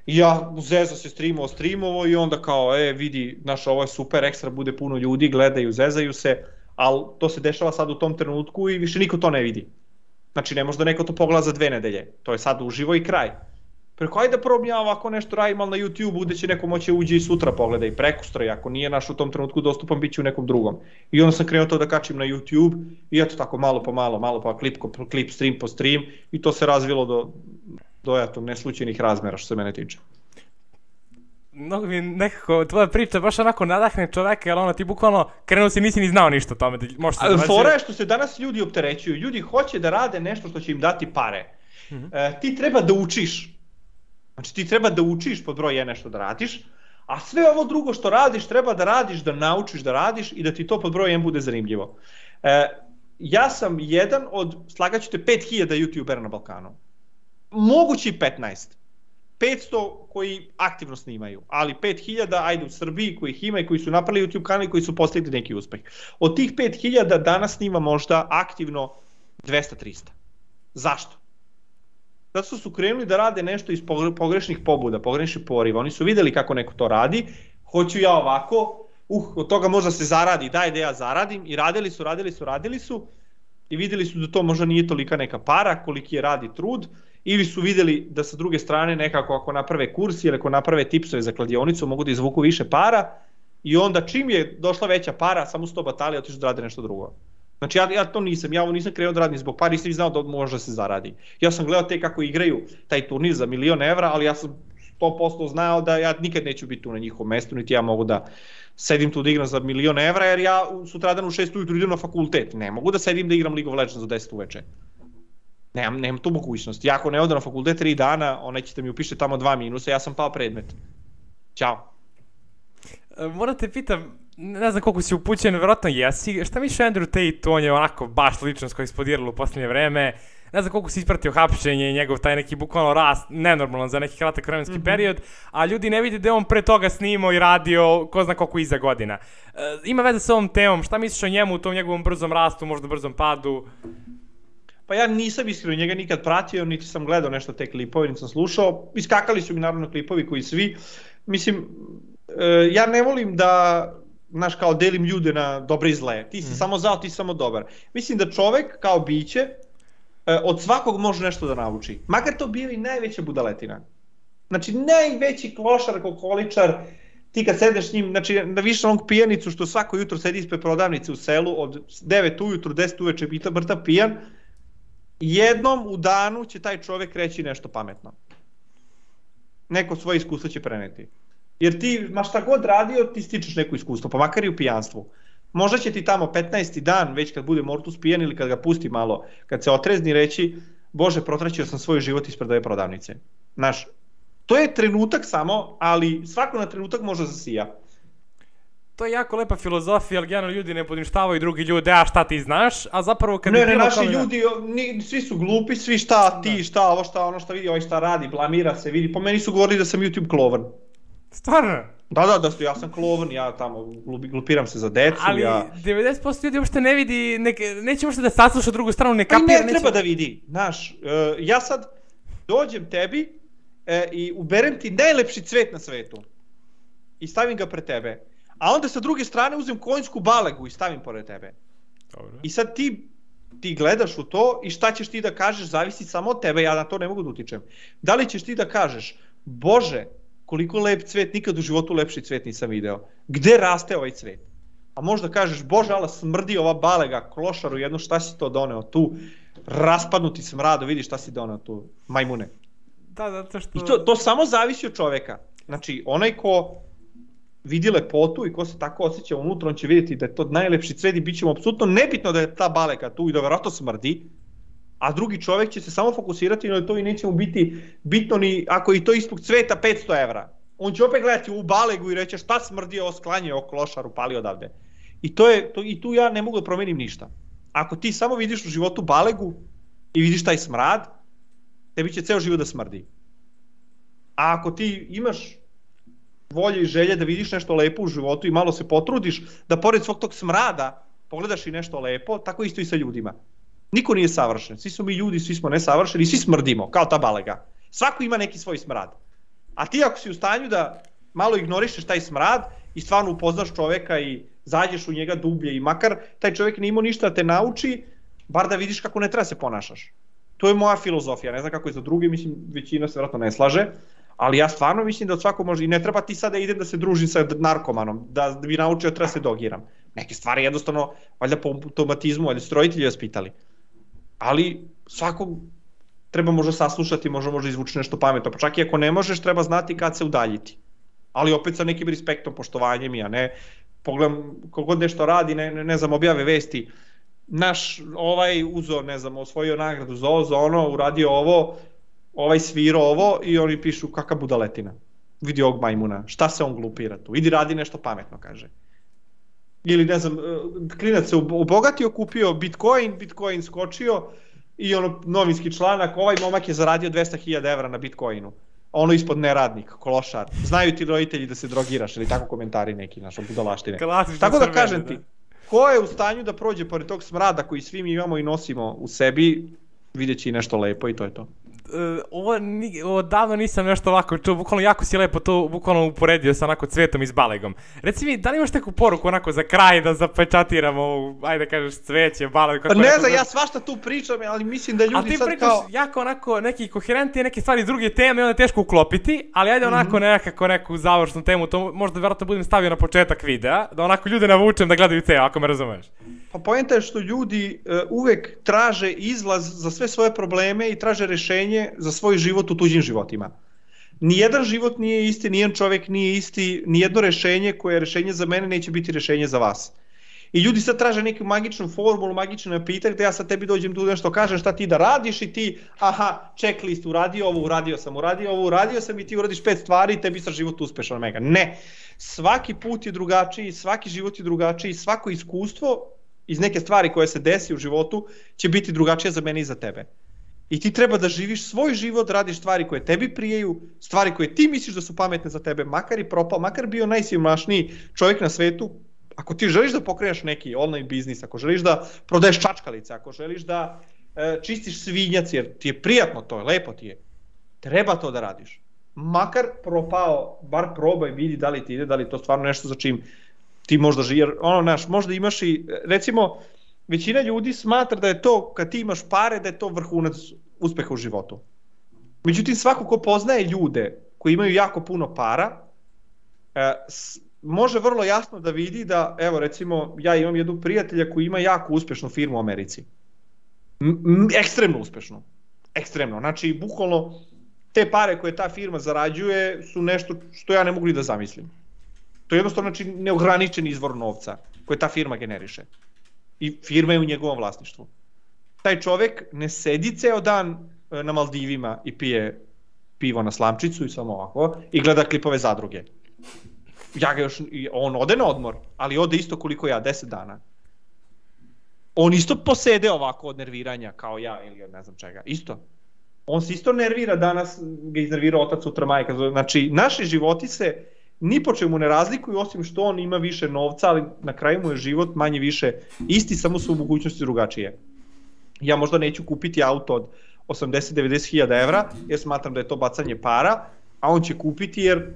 I ja zezao se streamovo i onda kao vidi, znaš ovo je super, ekstra bude puno ljudi, gledaju, zezaju se, ali to se dešava sad u tom trenutku i više niko to ne vidi. Znači ne može da neko to pogleda za 2 nedelje, to je sad uživo i kraj. Preko ajde da probam ja ovako nešto radim, ali na YouTube-u gde će neko moći uđe i sutra pogleda i prekustra, i ako nije naš u tom trenutku dostupan, bit će u nekom drugom. I onda sam krenuo to da kačim na YouTube i eto tako malo pa klip, stream po stream i to se razvilo do neslučajnih razmera što se mene tiče. Mnogo mi nekako, tvoja priča baš onako nadahne čoveka, jer ti bukvalno krenuo si nisi ni znao ništa o tome. Fora je što se danas ljudi opterećuju, ljudi hoće da rade nešto što će im dati pare. Ti treba da učiš. Znači ti treba da učiš pod broj 1 nešto da radiš, a sve ovo drugo što radiš treba da radiš, da naučiš da radiš i da ti to pod broj 1 bude zanimljivo. Ja sam jedan od, slagaću te, 5000 youtubera na Balkanu. Mogući 15. 500 koji aktivno snimaju, ali 5000 ajde u Srbiji koji ih ima i koji su napravili YouTube kanal i koji su postigli neki uspeh. Od tih 5000 danas snima možda aktivno 200-300. Zašto? Zato što su krenuli da rade nešto iz pogrešnih pobuda, pogrešnih poriva. Oni su videli kako neko to radi, hoću ja ovako, od toga možda se zaradi, daj da ja zaradim, i radili su i videli su da to možda nije tolika neka para koliki je rad i trud, ili su videli da sa druge strane nekako ako naprave kurs ili ako naprave tipsove za kladionicu mogu da izvuku više para, i onda čim je došla veća para samo su to batali i otišu da rade nešto drugo. Znači ja to nisam, ja ovo nisam krenuo da radim zbog para, nisam znao da može da se zaradi. Ja sam gledao te kako igraju taj turnir za 1.000.000 evra, ali ja sam 100% znao da ja nikad neću biti tu na njihovom mestu, niti ja mogu da sedim tu da igram za 1.000.000 evra, jer ja sutradan u 6 ujutru idem na fakultet. Ne mogu da sedim da igram League of Legends za 10 uveče. Nemam tu mogućnost. Ja ako ne odem na fakultet 3 dana, onaj ćete mi upiše tamo 2 minusa, ja sam pao predmet. Ćao. Moram te pitam, ne znam koliko si upućen, verovatno jesi, šta misliš Andrew Tate, on je onako baš ličnost koja je eksplodirala u posljednje vreme, ne znam koliko si ispratio hapšenje i njegov taj neki bukvalno rast, nenormalan za neki kratak vremenski period, a ljudi ne vide da je on pre toga snimao i radio ko zna koliko iza godina. Ima veze s ovom temom, šta misliš o njemu, u tom njegovom brzom rastu, možda brzom padu? Pa ja nisam iskreno njega nikad pratio, niti sam gledao nešto te klipove, niti sam slušao, iskakali su mi naravno klipovi koji svi, mislim, ja ne volim da, znaš, kao delim ljude na dobre i zle, ti si samo zao, ti si samo dobar. Mislim da čovek kao biće od svakog može nešto da nauči, makar to bio i najveća budaletina. Znači najveći klošar, kokoličar, ti kad sedeš s njim, znači da vidiš onog pijanicu što svako jutro sedi ispred prodavnice u selu od 9 ujutru, 10 uveče pita brta pijan, jednom u danu će taj čovek reći nešto pametno. Neko svoje iskustvo će preneti. Jer ti, ma šta god radio, ti stičeš neko iskustvo, pa makar i u pijanstvu. Možda će ti tamo 15. dan, već kad bude Mortus pijan ili kad ga pusti malo, kad se otrezni reći, Bože, protraćio sam svoj život ispred ove prodavnice. Znaš, to je trenutak samo, ali svako na trenutak može zasija. To je jako lepa filozofija, ali generalno ljudi ne poništavaju drugi ljude, a šta ti znaš, a zapravo kad... Ne, naši ljudi, svi su glupi, svi šta ti, šta ovo, šta ono šta vidi, ovaj šta radi, blamira se, vidi, po meni su govorili da sam YouTube klovan. Stvarno? Da, ja sam klovan, ja tamo glupiram se za decu, ali ja... 90% ljudi uopšte ne vidi, neće uopšte da sasluša drugu stranu, ne kapira, neće... Ne treba da vidi, znaš, ja sad dođem tebi i uberem ti najlepši cvet na svetu i stavim ga pred tebe. A onda sa druge strane uzem konjsku balegu i stavim pored tebe. Dobro. I sad ti gledaš u to i šta ćeš ti da kažeš, zavisi samo od tebe, ja na to ne mogu da utičem. Da li ćeš ti da kažeš, Bože, koliko lep cvet, nikad u životu lepši cvet nisam video. Gde raste ovaj cvet? A možda kažeš, Bože, ala smrdi ova balega, klošaru jedno, šta si to doneo tu? Raspadnuti smrado, vidi šta si doneo tu, majmune. Da, zato što... I to samo zavisi od čoveka. Znači, onaj ko vidi lepotu i ko se tako osjeća unutra, on će vidjeti da je to najlepši cvet i bit će mu apsolutno nebitno da je ta baleka tu i da verovatno smrdi, a drugi čovjek će se samo fokusirati na to i neće mu biti bitno ni ako i to ispod cveta 500 evra. On će opet gledati u balegu i reći šta smrdi, ovo sklanje, ovo klošar upali odavde. I tu ja ne mogu da promenim ništa. Ako ti samo vidiš u životu balegu i vidiš taj smrad, tebi će ceo život da smrdi. A ako ti imaš volje i želje da vidiš nešto lepo u životu i malo se potrudiš da pored svog tog smrada pogledaš i nešto lepo, tako isto i sa ljudima. Niko nije savršen, svi smo mi ljudi, svi smo nesavršeni, svi smrdimo, kao ta balega. Svako ima neki svoj smrad. A ti ako si u stanju da malo ignorišeš taj smrad i stvarno upoznaš čoveka i zađeš u njega dublje i makar taj čovjek nije imao ništa da te nauči, bar da vidiš kako ne treba se ponašaš. To je moja filozofija, ne znam kako je za druge, mislim većina se vjerojatno ne slaže, ali ja stvarno mislim da od svakog može, i ne treba ti sada idem da se družim sa narkomanom, da bi naučio da treba se dogiram. Neke stvari jednostavno, valjda po automatizmu, valjda su roditelji vaspitali. Ali svakog treba možda saslušati, možda izvući nešto pametno, pa čak i ako ne možeš, treba znati kad se udaljiti. Ali opet sa nekim respektom, poštovanjem, ja ne pogledam kogod nešto radi, ne znam, objave vesti, naš uzo, ne znam, osvojio nagradu za ovo, za ono, uradio ovo, sviro ovo i oni pišu kakav budaletina. Vidi ovog majmuna, šta se on glupira tu, idi radi nešto pametno, kaže. Ili ne znam, klinac se obogatio, kupio Bitcoin skočio i ono novinski članak, ovaj momak je zaradio 200.000 evra na Bitcoinu, a ono ispod neradnik, klošar. Znaju ti roditelji da se drogiraš ili tako komentari neki naš budalaštine. Tako da kažem ti, ko je u stanju da prođe pored tog smrada koji svi mi imamo i nosimo u sebi, vidjet će i nešto lepo i to je to. Ovo davno nisam nešto ovako čuo, bukvalno jako si lepo to bukvalno uporedio sa onako cvetom i s balegom. Reci mi, da li imaš neku poruku onako za kraj da zapečatiramo, ajde kažeš cveće, baleg... Pa ne znam, ja svašta tu pričam, ali mislim da ljudi sad kao... Ali ti pričaš jako onako neki koherentni, neke stvari druge teme i onda je teško uklopiti, ali ajde onako nekako neku završnu temu, to možda vjerojatno budem stavio na početak videa, da onako ljude navučem da gledaju ceo, ako me razumeš. Pa poenta je što ljudi uvek traže izlaz za sve svoje probleme i traže rešenje za svoj život u tuđim životima. Nijedan život nije isti, nijedan čovjek nije isti, nijedno rešenje koje je rešenje za mene neće biti rešenje za vas. I ljudi sad traže neku magičnu formulu, magičnu napitak da ja sad tebi dođem tu nešto kažem šta ti da radiš i ti, aha, checklist, uradio ovo, uradio sam i ti uradiš 5 stvari i tebi sad život uspešan mega. Ne, svaki put je drugačiji, svaki život je drugačiji, svako iskustvo iz neke stvari koje se desi u životu će biti drugačije za mene i za tebe. I ti treba da živiš svoj život, radiš stvari koje tebi prijeju, stvari koje ti misliš da su pametne za tebe, makar i propao, makar bio najsiromašniji čovjek na svetu. Ako ti želiš da pokreneš neki online biznis, ako želiš da prodaješ čačkalice, ako želiš da čistiš svinjac jer ti je prijatno to, lepo ti je, treba to da radiš. Makar propao, bar probaj, vidi da li ti ide, da li to stvarno nešto za čim ti možda živi, jer možda imaš i, recimo, većina ljudi smatra da je to, kad ti imaš pare, da je to vrhunac uspeha u životu. Međutim, svako ko poznaje ljude koji imaju jako puno para, može vrlo jasno da vidi da, evo recimo, ja imam jednog prijatelja koji ima jako uspešnu firmu u Americi. Ekstremno uspešnu. Ekstremno. Znači, bukvalno, te pare koje ta firma zarađuje su nešto što ja ne mogu ni da zamislim. To je jednostavno znači, neograničen izvor novca koje ta firma generiše. I firma je u njegovom vlasništvu. Taj čovjek ne sedi ceo dan na Maldivima i pije pivo na slamčicu i samo ovako i gleda klipove zadruge. On ode na odmor, ali ode isto koliko ja, 10 dana. On isto posede ovako od nerviranja kao ja ili od ne znam čega, isto. On se isto nervira, danas ga iznervira otac, sutra majka. Znači, naši životi se ni po čemu ne razlikuju, osim što on ima više novca, ali na kraju mu je život manje više isti, samo su u mogućnosti drugačije. Ja možda neću kupiti auto od 80-90 hiljada evra, jer smatram da je to bacanje para, a on će kupiti jer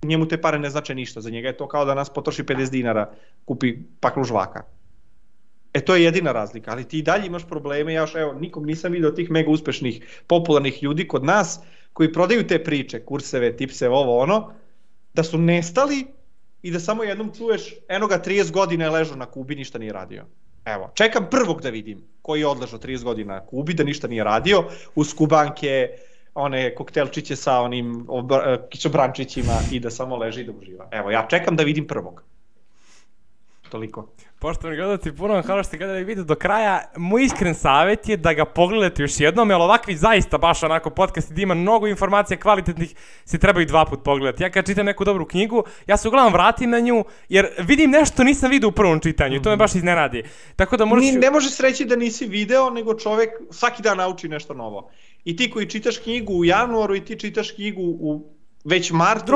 njemu te pare ne znače ništa. Za njega je to kao da nas potroši 50 dinara, kupi paklu žvaka. To je jedina razlika, ali ti i dalje imaš probleme, ja još nikog nisam vidio tih mega uspešnih, popularnih ljudi kod nas, koji prodaju te priče, kurseve, tipseve, ovo ono, da su nestali i da samo jednom čuješ, eno ga 30 godina je ležao na Kubi, ništa nije radio. Evo, čekam prvog da vidim koji je odležao 30 godina na Kubi, da ništa nije radio, uz kubanke, one koktelčiće sa onim kišobrančićima i da samo leži i da uživa. Evo, ja čekam da vidim prvog. Toliko. Poštovani gledalci, puno vam hvala što ste gledali video do kraja. Moj iskren savjet je da ga pogledate još jednom, jer ovakvi zaista baš onako podcast gdje ima mnogo informacija kvalitetnih se trebaju 2 put pogledati. Ja kad čitam neku dobru knjigu, ja se uglavnom vratim na nju, jer vidim nešto nisam vidio u prvom čitanju i to me baš iznenadi. Tako da ne možeš reći da nisi video, nego čovjek svaki dan nauči nešto novo. I ti koji čitaš knjigu u januaru i ti čitaš knjigu u već martu.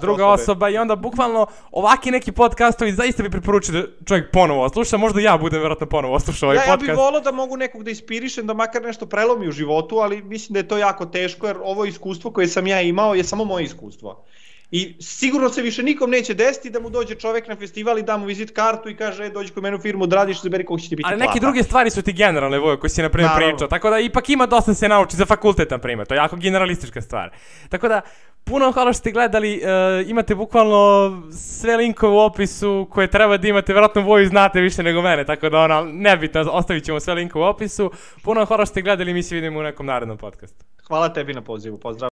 Druga osoba i onda bukvalno ovaki neki podcastovi zaista bi preporučio da čovjek ponovo osluša, možda ja budem vjerojatno ponovo oslušao ovaj podcast. Ja bih volao da mogu nekog da inspirišem, da makar nešto prelomi u životu, ali mislim da je to jako teško jer ovo iskustvo koje sam ja imao je samo moje iskustvo. I sigurno se više nikom neće desiti da mu dođe čovjek na festival i da mu vizit kartu i kaže dođi kod mene u firmu, odradiš, zaberi koliko će ti biti plata. Ali neke druge stvari su ti generalne, Vojo, koji si na primjer pričao, tako da ipak ima dosta se nauči za fakultet, na primjer, to je jako generalistička stvar. Tako da, puno hvala što ste gledali, imate bukvalno sve linkove u opisu koje treba da imate, vjerojatno Voju znate više nego mene, tako da nebitno, ostavit ćemo sve linkove u opisu. Puno hvala što ste gledali, mi se vidimo u nekom narednom podcastu. Hvala tebi na pozivu, pozdrav.